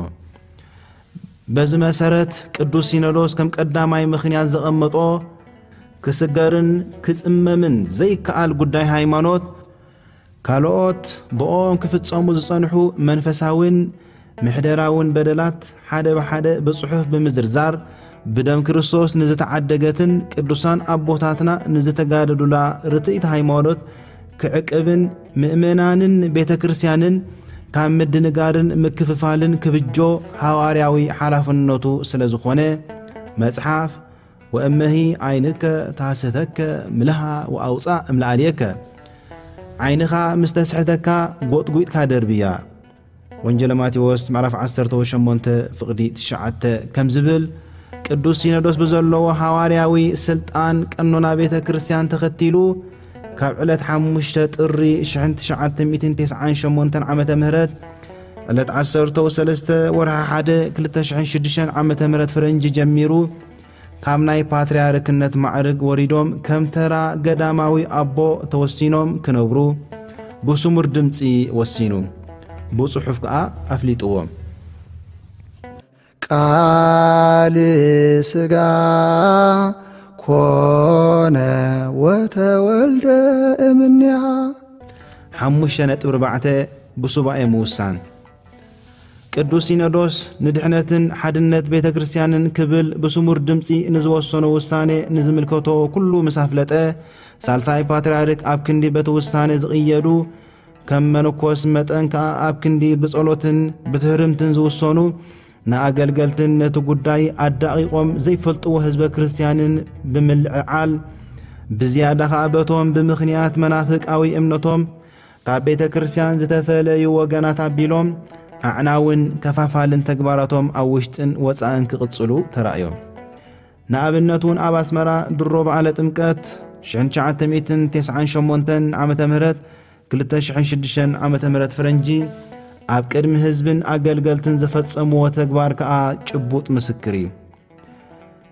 በዚ መሰረት ቅዱስ ሲኖዶስ ከም ቀዳማይ ምኽንያት ዘቐመጦ ክስገርን ክጽመምን ዘይከኣል ጉዳይ ሃይማኖት ካልኦት ብኦም ክፍጸሙ ዝጸንሑ መንፈሳውን ምሕደራውን በደላት ሓደ ብሓደ ብጽሑፍ ብምዝርዛር ብደም ክርስቶስ ንዝተዓደገትን ቅዱሳን ኣቦታትና ንዝተጋደሉላ ርትዕቲ ሃይማኖት ክዕቅብን ምእመናንን ቤተ ክርስቲያንን ካብ ምድንጋርን ምክፍፋልን ክብጆ ሃዋርያዊ ሓላፍነቱ ስለ ዝኾነ መጽሓፍ ወእመሂ ዓይንከ ታሰተከ ምልሃ ወኣውፃእ እምለኣልየከ ዓይንኻ ምስ ተስሕተካ ጎጥጒጥካ ደርብያ። ወንጀለ ማቴዎስ ምዕራፍ ዓሰርተ ሸሞንተ ፍቕዲ ትሽዓተ ከም ዝብል ቅዱስ ሲኖዶስ ብዘለዎ ሃዋርያዊ ስልጣን ቀኖና ቤተ ክርስቲያን ተኸቲሉ ካብ ዕለት ሓሙሽተ ጥሪ ሽሕን ትሽዓተ ሚእትን ተስዓን ሸሞንተን ዓመተ ምህረት ዕለት ዓሰርተ ሰለስተ ወርሒ ሓደ ክልተ ሽሕን ሽዱሽተን ዓመተ ምህረት ፈረንጂ ጀሚሩ ካብ ናይ ፓትርያርክነት ማዕርግ ወሪዶም ከም ተራ ገዳማዊ ኣቦ ተወሲኖም ክነብሩ ብስሙር ድምጺ ወሲኑ፣ ብጽሑፍ ከኣ ኣፍሊጥዎም። ቃል ስጋ ኮነ ወተወልደ እምኔሃ። ሓሙሽተ ነጥቢ ኣርባዕተ። ብሱባኤ ምውሳን። ቅዱስ ሲኖዶስ ንድሕነትን ሓድነት ቤተ ክርስቲያንን ክብል ብስሙር ድምጺ ንዝወሰኖ ውሳኔ ንዝምልከቶ ኩሉ ምስ ኣፍለጠ፣ ሳልሳይ ፓትርያርክ ኣብ ክንዲ በቲ ውሳኔ ዝቕየዱ፣ ከም መነኮስ መጠን ከኣ ኣብ ክንዲ ብጸሎትን ብትህርምትን ዝውሰኑ፣ ንኣገልገልትን ነቲ ጉዳይ ኣዳቒቖም ዘይፈልጥዎ ህዝበ ክርስቲያንን ብምልዕዓል፣ ብዝያዳ ኸኣ በቶም ብምኽንያት መናፍቃዊ እምነቶም ካብ ቤተ ክርስቲያን ዝተፈለዩ ወገናት ኣቢሎም ኣዕናውን ከፋፋልን ተግባራቶም ኣብ ውሽጥን ወጻእን ክቕጽሉ ተራእዮም። ንኣብነት እውን ኣብ ኣስመራ ድሮ በዓለ ጥምቀት ሽሕን ትሽዓተ ሚእትን ተስዓን ሸሞንተን ዓመተ ምህረት፣ ክልተ ሽሕን ሽዱሽተን ዓመተ ምህረት ፈረንጂ፣ ኣብ ቅድሚ ህዝብን ኣገልገልትን ዝፈጸምዎ ተግባር ከኣ ጭቡጥ ምስክር እዩ።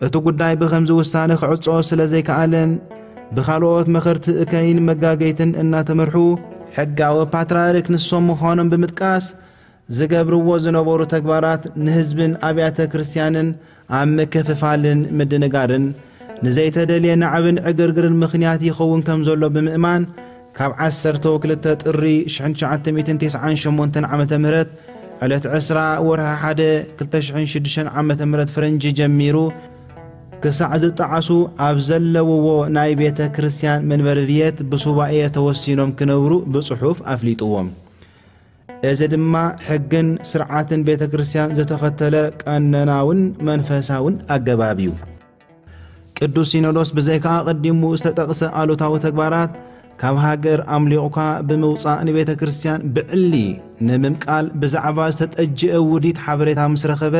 እቲ ጉዳይ ብኸምዚ ውሳነ ክዕጾ ስለ ዘይከኣለን ብኻልኦት መኸርቲ እከይን መጋገይትን እናተመርሑ፣ ሕጋዊ ፓትርያርክ ንሶም ምዃኖም ብምጥቃስ፣ ዝገብርዎ ዝነበሩ ተግባራት ንህዝብን ኣብያተ ክርስቲያንን ኣብ ምክፍፋልን ምድንጋርን ንዘይተደልየ ናዕብን ዕግርግርን ምኽንያት ይኸውን ከም ዘሎ ብምእማን፣ ካብ ዓሰርተ ክልተ ጥሪ ሽሕን ትሽዓተ ሚእትን ተስዓን ሸሞንተን ዓመተ ምህረት ዕለት ዕስራ ወርሒ ሓደ ክልተ ሽሕን ሽዱሽተን ዓመተ ምህረት ፈረንጂ ጀሚሩ ክሳዕ ዝጠዓሱ ኣብ ዘለውዎ ናይ ቤተ ክርስቲያን መንበሪ ቤት ብሱባኤ ተወሲኖም ክነብሩ ብጽሑፍ ኣፍሊጥዎም። እዚ ድማ ሕግን ስርዓትን ቤተ ክርስቲያን ዝተኸተለ ቀኖናውን መንፈሳውን ኣገባብ እዩ። ቅዱስ ሲኖዶስ ብዘይካ ኣቐዲሙ ዝተጠቕሰ ኣሉታዊ ተግባራት ካብ ሃገር ኣምሊቑካ ብምውጻእ ንቤተ ክርስቲያን ብዕሊ ንምምቃል ብዛዕባ ዝተጠጅአ ውዲት ሓበሬታ ምስ ረኸበ፣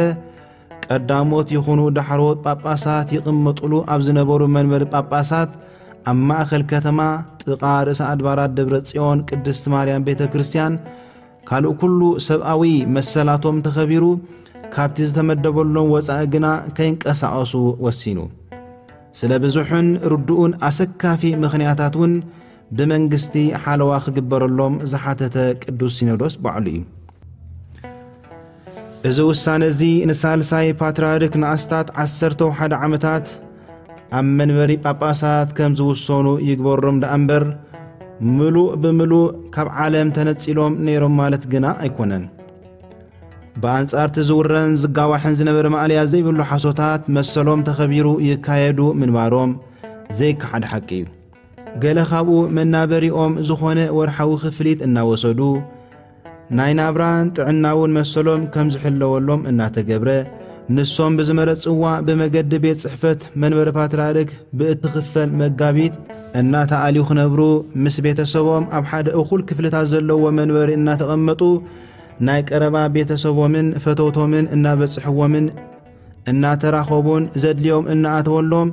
ቀዳሞት ይኹኑ ዳሕሮት ጳጳሳት ይቕመጡሉ ኣብ ዝነበሩ መንበሪ ጳጳሳት ኣብ ማእከል ከተማ ጥቓ ርእሰ ኣድባራት ደብረ ጽዮን ቅድስት ማርያም ቤተ ክርስቲያን ካልእ ኩሉ ሰብኣዊ መሰላቶም ተኸቢሩ፣ ካብቲ ዝተመደበሎም ወጻኢ ግና ከይንቀሳቐሱ ወሲኑ። ስለ ብዙሕን ርዱእን ኣሰካፊ ምኽንያታት እውን ብመንግስቲ ሓለዋ ክግበረሎም ዝሓተተ ቅዱስ ሲኖዶስ ባዕሉ እዩ። እዚ ውሳነ እዚ ንሳልሳይ ፓትርያርክ ንኣስታት ዓሰርተ ሓደ ዓመታት ኣብ መንበሪ ጳጳሳት ከም ዝውሰኑ ይግበሮም ደኣ እምበር፣ ምሉእ ብምሉእ ካብ ዓለም ተነጺሎም ነይሮም ማለት ግና ኣይኮነን። ብኣንጻር እቲ ዝውረን ዝጋዋሕን ዝነበረ ማእለያ ዘይብሉ ሓሶታት፣ መሰሎም ተኸቢሩ ይካየዱ ምንባሮም ዘይከሓድ ሓቂ እዩ። ገለ ካብኡ መናበሪኦም ዝኾነ ወርሓዊ ክፍሊት እናወሰዱ፣ ናይ ናብራን ጥዕናውን መሰሎም ከም ዝሕለወሎም እናተገብረ፣ ንሶም ብዝመረጽዋ ብመገዲ ቤት ጽሕፈት መንበሪ ፓትርያርክ ብእትኽፈል መጋቢት እናተኣልዩ ክነብሩ፣ ምስ ቤተሰቦም ኣብ ሓደ እኹል ክፍልታት ዘለዎ መንበሪ እናተቐመጡ፣ ናይ ቀረባ ቤተሰቦምን ፈተውቶምን እናበጽሕዎምን እናተራኸቡን ዘድልዮም እናኣተወሎም፣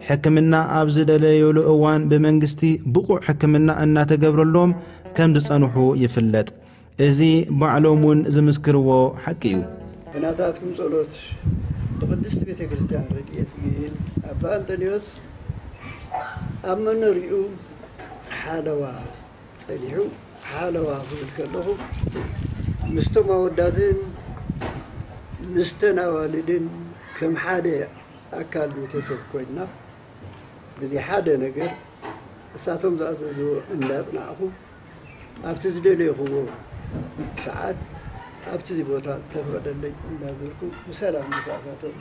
ሕክምና ኣብ ዝደለዩሉ እዋን ብመንግስቲ ብቑዕ ሕክምና እናተገብረሎም ከም ዝጸንሑ ይፍለጥ። እዚ ባዕሎም እውን ዝምስክርዎ ሓቂ እዩ። ብናታትኩም ጸሎት፣ ብቅድስት ቤተ ክርስቲያን ረድኤት ግን ኣባ ኣንጠንዮስ ኣብ መኖሪኡ ሓለዋ ጸኒሑ። ሓለዋ ክብል ከለኹ፣ ምስቶም ኣወዳትን ምስተን ኣዋልድን ከም ሓደ ኣካል ቤተሰብ ኮይንና፣ ብዘይ ሓደ ነገር እሳቶም ዝኣዘዝዎ እንዳጽናዕኹ፣ ኣብቲ ዝደለይኹዎ ሰዓት ኣብቲ ቦታ ተፈቐደለይ እንዳዘርኩ ብሰላም ምሳእሳቶም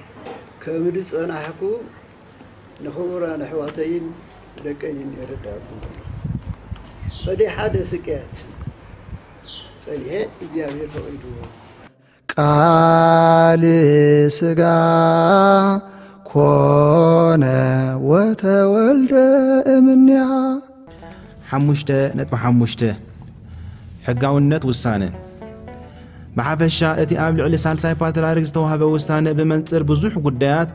ከም ዝጸናሕኩ ንኽቡራን ኣሕዋተይን ደቀይን የረዳእኩም። በደይ ሓደ ስቅያት ጸኒሐ እግዚኣብሔር ፈቒድዎ። ቃል ስጋ ኮነ ወተወልደ እምኔሃ። ሓሙሽተ ነጥቢ ሓሙሽተ። ሕጋውነት ውሳነ። ብሓፈሻ እቲ ኣብ ልዕሊ ሳልሳይ ፓትርያርክ ዝተዋህበ ውሳነ ብመንጽር ብዙሕ ጉዳያት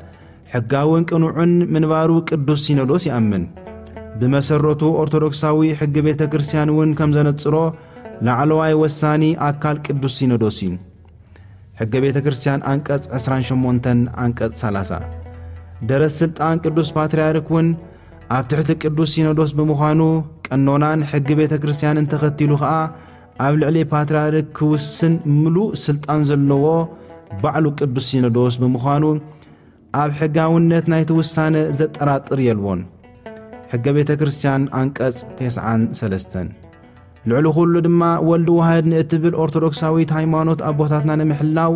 ሕጋውን ቅኑዕን ምንባሩ ቅዱስ ሲኖዶስ ይኣምን። ብመሰረቱ ኦርቶዶክሳዊ ሕጊ ቤተ ክርስቲያን እውን ከም ዘነጽሮ ላዕለዋይ ወሳኒ ኣካል ቅዱስ ሲኖዶስ እዩ። ሕገ ቤተ ክርስቲያን ኣንቀጽ ዕስራን ሸሞንተን፣ ኣንቀጽ ሰላሳ። ደረት ስልጣን ቅዱስ ፓትርያርክ እውን ኣብ ትሕቲ ቅዱስ ሲኖዶስ ብምዃኑ፣ ቀኖናን ሕጊ ቤተ ክርስቲያንን ተኸቲሉ ኸኣ ኣብ ልዕሊ ፓትርያርክ ክውስን ምሉእ ስልጣን ዘለዎ ባዕሉ ቅዱስ ሲኖዶስ ብምዃኑ፣ ኣብ ሕጋውነት ናይቲ ውሳነ ዘጠራጥር የልቦን። ሕገ ቤተ ክርስቲያን፣ ኣንቀጽ ተስዓን ሰለስተን። ልዕሊ ኩሉ ድማ፣ ወልድ ዋህድ ንእትብል ኦርቶዶክሳዊት ሃይማኖት ኣቦታትና ንምሕላው፣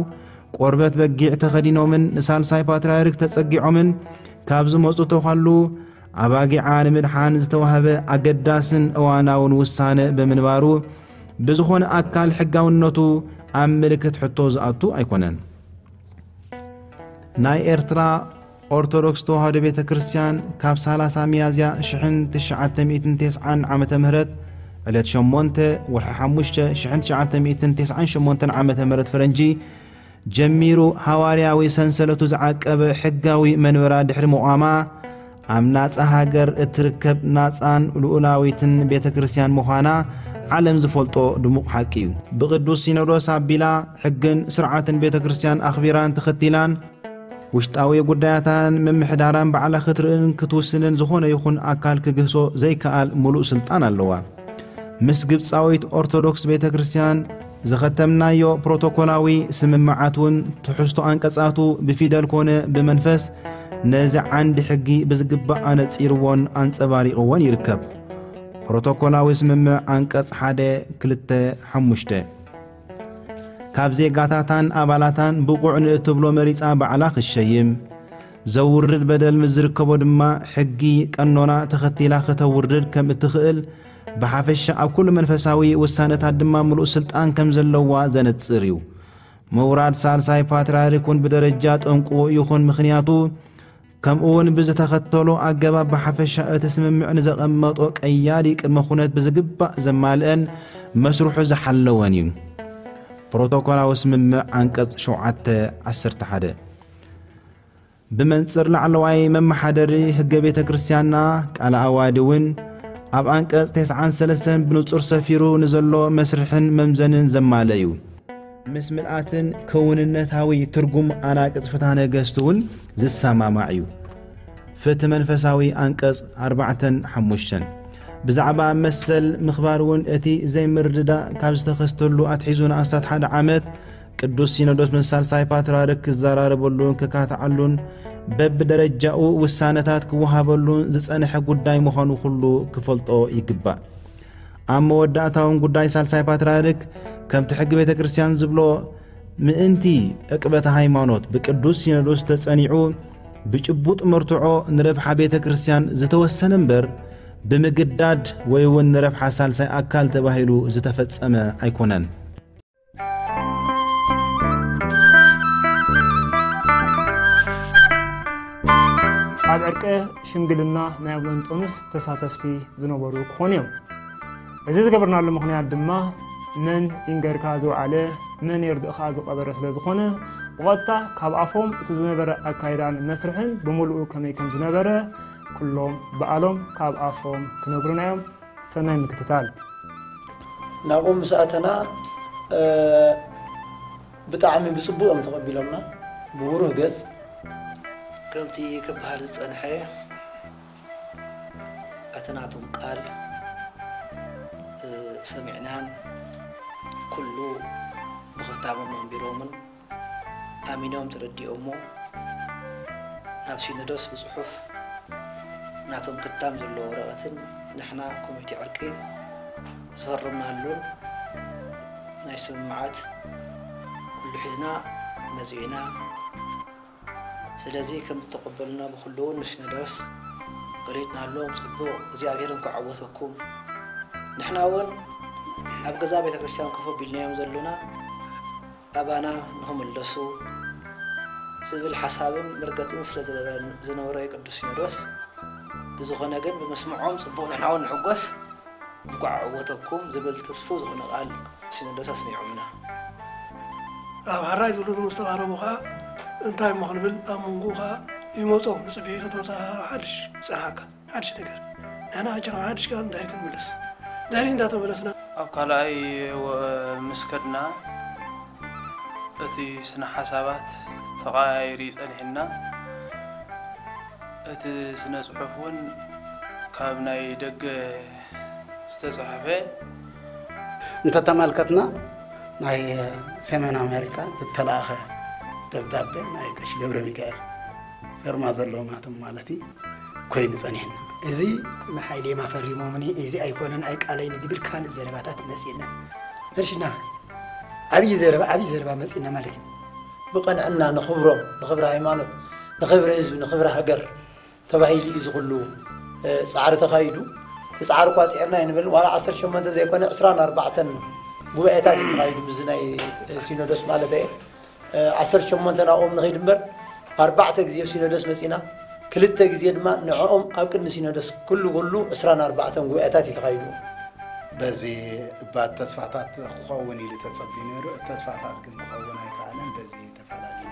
ቆርበት በጊዕ ተኸዲኖምን ንሳልሳይ ፓትርያርክ ተጸጊዖምን ካብ ዝመጹ ተዃሉ ኣባጊዓ ንምድሓን ዝተዋህበ ኣገዳስን እዋናውን ውሳነ ብምንባሩ፣ ብዝኾነ ኣካል ሕጋውነቱ ኣብ ምልክት ሕቶ ዝኣቱ ኣይኮነን። ናይ ኤርትራ ኦርቶዶክስ ተዋህዶ ቤተ ክርስቲያን ካብ ሰላሳ ሚያዝያ ሽሕን ትሽዓተ ሚእትን ተስዓን ዓመተ ምህረት፣ ዕለት ሸሞንተ ወርሒ ሓሙሽተ ሽሕን ትሽዓተ ሚእትን ተስዓን ሸሞንተን ዓመተ ምህረት ፈረንጂ ጀሚሩ፣ ሃዋርያዊ ሰንሰለቱ ዝዓቀበ ሕጋዊ መንበራ ድሕሪ ምቋማ፣ ኣብ ናጻ ሃገር እትርከብ ናጻን ልኡላዊትን ቤተ ክርስቲያን ምዃና ዓለም ዝፈልጦ ድሙቕ ሓቂ እዩ። ብቅዱስ ሲኖዶስ ኣቢላ፣ ሕግን ስርዓትን ቤተ ክርስቲያን ኣኽቢራን ተኸቲላን፣ ውሽጣዊ ጉዳያታን ምምሕዳራን ባዕላ ክትርእን ክትውስንን ዝኾነ ይኹን ኣካል ክግህሶ ዘይከኣል ምሉእ ስልጣን ኣለዋ። ምስ ግብጻዊት ኦርቶዶክስ ቤተ ክርስቲያን ዘኸተምናዮ ፕሮቶኮላዊ ስምምዓት እውን፣ ትሕዝቶ ኣንቀጻቱ ብፊደል ኮነ ብመንፈስ፣ ነዚ ዓንዲ ሕጊ ብዝግባእ ኣነጺርዎን ኣንጸባሪቕዎን ይርከብ። ፕሮቶኮላዊ ስምምዕ፣ ኣንቀጽ ሓደ፣ ክልተ፣ ሓሙሽተ። ካብ ዜጋታታን ኣባላታን ብቑዕ ንእትብሎ መሪጻ ባዕላ ክትሸይም፣ ዘውርድ በደል ምስ ዝርከቦ ድማ፣ ሕጊ ቀኖና ተኸቲላ ከተውርድ ከም እትኽእል፣ ብሓፈሻ ኣብ ኩሉ መንፈሳዊ ውሳነታት ድማ ምሉእ ስልጣን ከም ዘለዋ ዘነጽር እዩ። ምውራድ ሳልሳይ ፓትርያርክ እውን ብደረጃ ጠንቁ ይኹን ምኽንያቱ፣ ከምኡ እውን ብዝተኸተሎ ኣገባብ ብሓፈሻ እቲ ስምምዕ ንዘቐመጦ ቀያዲ ቅድመ ኩነት ብዝግባእ ዘማልአን መስርሑ ዝሓለወን እዩ። ፕሮቶኮላዊ ስምምዕ፣ ኣንቀጽ ሸውዓተ፣ ዓሰርተ ሓደ። ብመንጽር ላዕለዋይ መመሓደሪ ሕገ ቤተ ክርስቲያንና፣ ቃለ ኣዋዲ እውን ኣብ ኣንቀጽ ተስዓን ሰለስተን ብንጹር ሰፊሩ ንዘሎ መስርሕን መምዘንን ዘማልአ እዩ። ምስ ምልኣትን ክውንነታዊ ትርጉም ኣናቅጽ ፍትሐ ነገስት እውን ዝሰማማዕ እዩ። ፍትሒ መንፈሳዊ፣ ኣንቀጽ ኣርባዕተን ሓሙሽተን። ብዛዕባ መሰል ምኽባር እውን፣ እቲ ዘይምርድዳእ ካብ ዝተኸስተሉ ኣትሒዙ ንኣስታት ሓደ ዓመት ቅዱስ ሲኖዶስ ምስ ሳልሳይ ፓትርያርክ ክዘራረበሉን ክካትዓሉን በብደረጃኡ ውሳነታት ክወሃበሉን ዝጸንሐ ጉዳይ ምዃኑ ኩሉ ክፈልጦ ይግባእ። ኣብ መወዳእታ እውን ጉዳይ ሳልሳይ ፓትርያርክ ከምቲ ሕጊ ቤተ ክርስቲያን ዝብሎ ምእንቲ ዕቅበተ ሃይማኖት ብቅዱስ ሲኖዶስ ተጸኒዑ ብጭቡጥ መርትዖ ንረብሓ ቤተ ክርስቲያን ዝተወሰነ እምበር ብምግዳድ ወይ እውን ንረብሓ ሳልሳይ ኣካል ተባሂሉ ዝተፈጸመ ኣይኮነን። ኣብ ዕርቀ ሽምግልና ናይ ኣቡነ እንጦንዮስ ተሳተፍቲ ዝነበሩ ክኾኑ እዮም። እዚ ዝገበርናሉ ምኽንያት ድማ መን ይንገርካ ዝወዓለ መን የርድእኻ ዝቐበረ ስለ ዝኾነ ብቐጥታ ካብ ኣፎም እቲ ዝነበረ ኣካይዳን መስርሕን ብምሉኡ ከመይ ከም ዝነበረ ኩሎም በዓሎም ካብ ኣፎም ክነግሩና እዮም። ሰናይ ምክትታል። ናብኡ ምስ ኣተና፣ እ፣ ብጣዕሚ ብጽቡቕ እዮም ተቐቢሎምና፣ ብብሩህ ገጽ። ከምቲ ክበሃል ዝጸንሐ፣ እቲ ናቶም ቃል፣ እ፣ ሰሚዕናን ኩሉ ብኽታሞም ኣንቢሮምን ኣሚኖም ተረዲኦሞ፣ ናብ ሲኖዶስ ብጽሑፍ ናቶም ክታም ዘለዎ ወረቐትን ንሕና ኮሚቴ ዕርቂ ዝፈረምናሉን ናይ ስምምዓት ኩሉ ሒዝና መጺእና። ስለዚ ከም እተቐበሉና ብኹሉ እውን ንሲኖዶስ ገሊጽናሎም። ጽቡቕ፣ እግዚኣብሔር እንኳዕ ዓወተኩም። ንሕና እውን ኣብ ገዛ ቤተ ክርስቲያን ኮፍ ኣቢልናዮም ዘሎና ኣባና ንኽምለሱ ዝብል ሓሳብን መርገጽን ስለ ዝነበረ፣ ዝነበረ ቅዱስ ሲኖዶስ፣ ብዝኾነ ግን ብምስምዖም ጽቡቕ፣ ንሕና እውን ንሕጎስ፣ እንኳዕ ዓወተኩም ዝብል ተስፉ ዝኾነ ቃል ሲኖዶስ ኣስሚዖምና። ኣብ ሓራይ ዝብሉ ምስ ተቓረቡ ኸኣ እንታይ እሞ ክንብል ኣብ መንጎኡ ኸኣ ይመጾም ንጽበዮ ተወሳኺ ሓድሽ ይጸንሓካ። ሓድሽ ነገር። ንሕና ሕጂ ካብ ሓድሽ ቃል እንታይ ክንምለስ? ድሕሪ እንዳተመለስና ኣብ ካልኣይ ወ-፣ ምስ ከድና እቲ ስነ ሓሳባት ተቐያይሩ ጸኒሕና። እቲ ስነ ጽሑፍ እውን ካብ ናይ ደገ ዝተጻሕፈ እንተተመልከትና ናይ ሰሜን ኣሜሪካ ዝተላእኸ ደብዳቤ ናይ ቀሺ ገብረ ሚካኤል ፌርማ ዘለዎም ኣቶም ማለት እዩ ኮይኑ ጸኒሕና። እዚ ንሓይሌማ ፈሪሞምኒ፣ እዚ ኣይኮነን ኣይቃለይን ዝብል ካልእ ዘረባታት መጺእና። እርሽና ዓብዪ ዘረባ ዓብዪ ዘረባ መጺእና ማለት እዩ። ብቐንዕና ንኽብሮም፣ ንኽብሪ ሃይማኖት፣ ንኽብሪ ህዝቢ፣ ንኽብሪ ሃገር ተባሂሉ እዩ ዝኽሉ ፃዕሪ ተኻይዱ። እቲ ፃዕሪ ቋፂዕና ኣይንብል ዋላ ዓሰርተ ሸሞንተ ዘይኮነ ዕስራን ኣርባዕተን ጉባኤታት እዩ ተኻይዱ ምስዚ ናይ ሲኖዶስ ማለት እየ። ዓሰርተ ሸሞንተ ናብኦም ንኸይድ እምበር ኣርባዕተ ግዜ ኣብ ሲኖዶስ መፂና፣ ክልተ ግዜ ድማ ንዕኦም ኣብ ቅድሚ ሲኖዶስ ኩሉ ኩሉ ዕስራን ኣርባዕተን ጉባኤታት እዩ ተኻይዱ። በዚ እባት ተስፋታት ክኸውን ኢሉ ተጸቢዩ ነይሩ። እቲ ተስፋታት ግን ክኸውን ኣይከኣለን። በዚ ተፈላለና።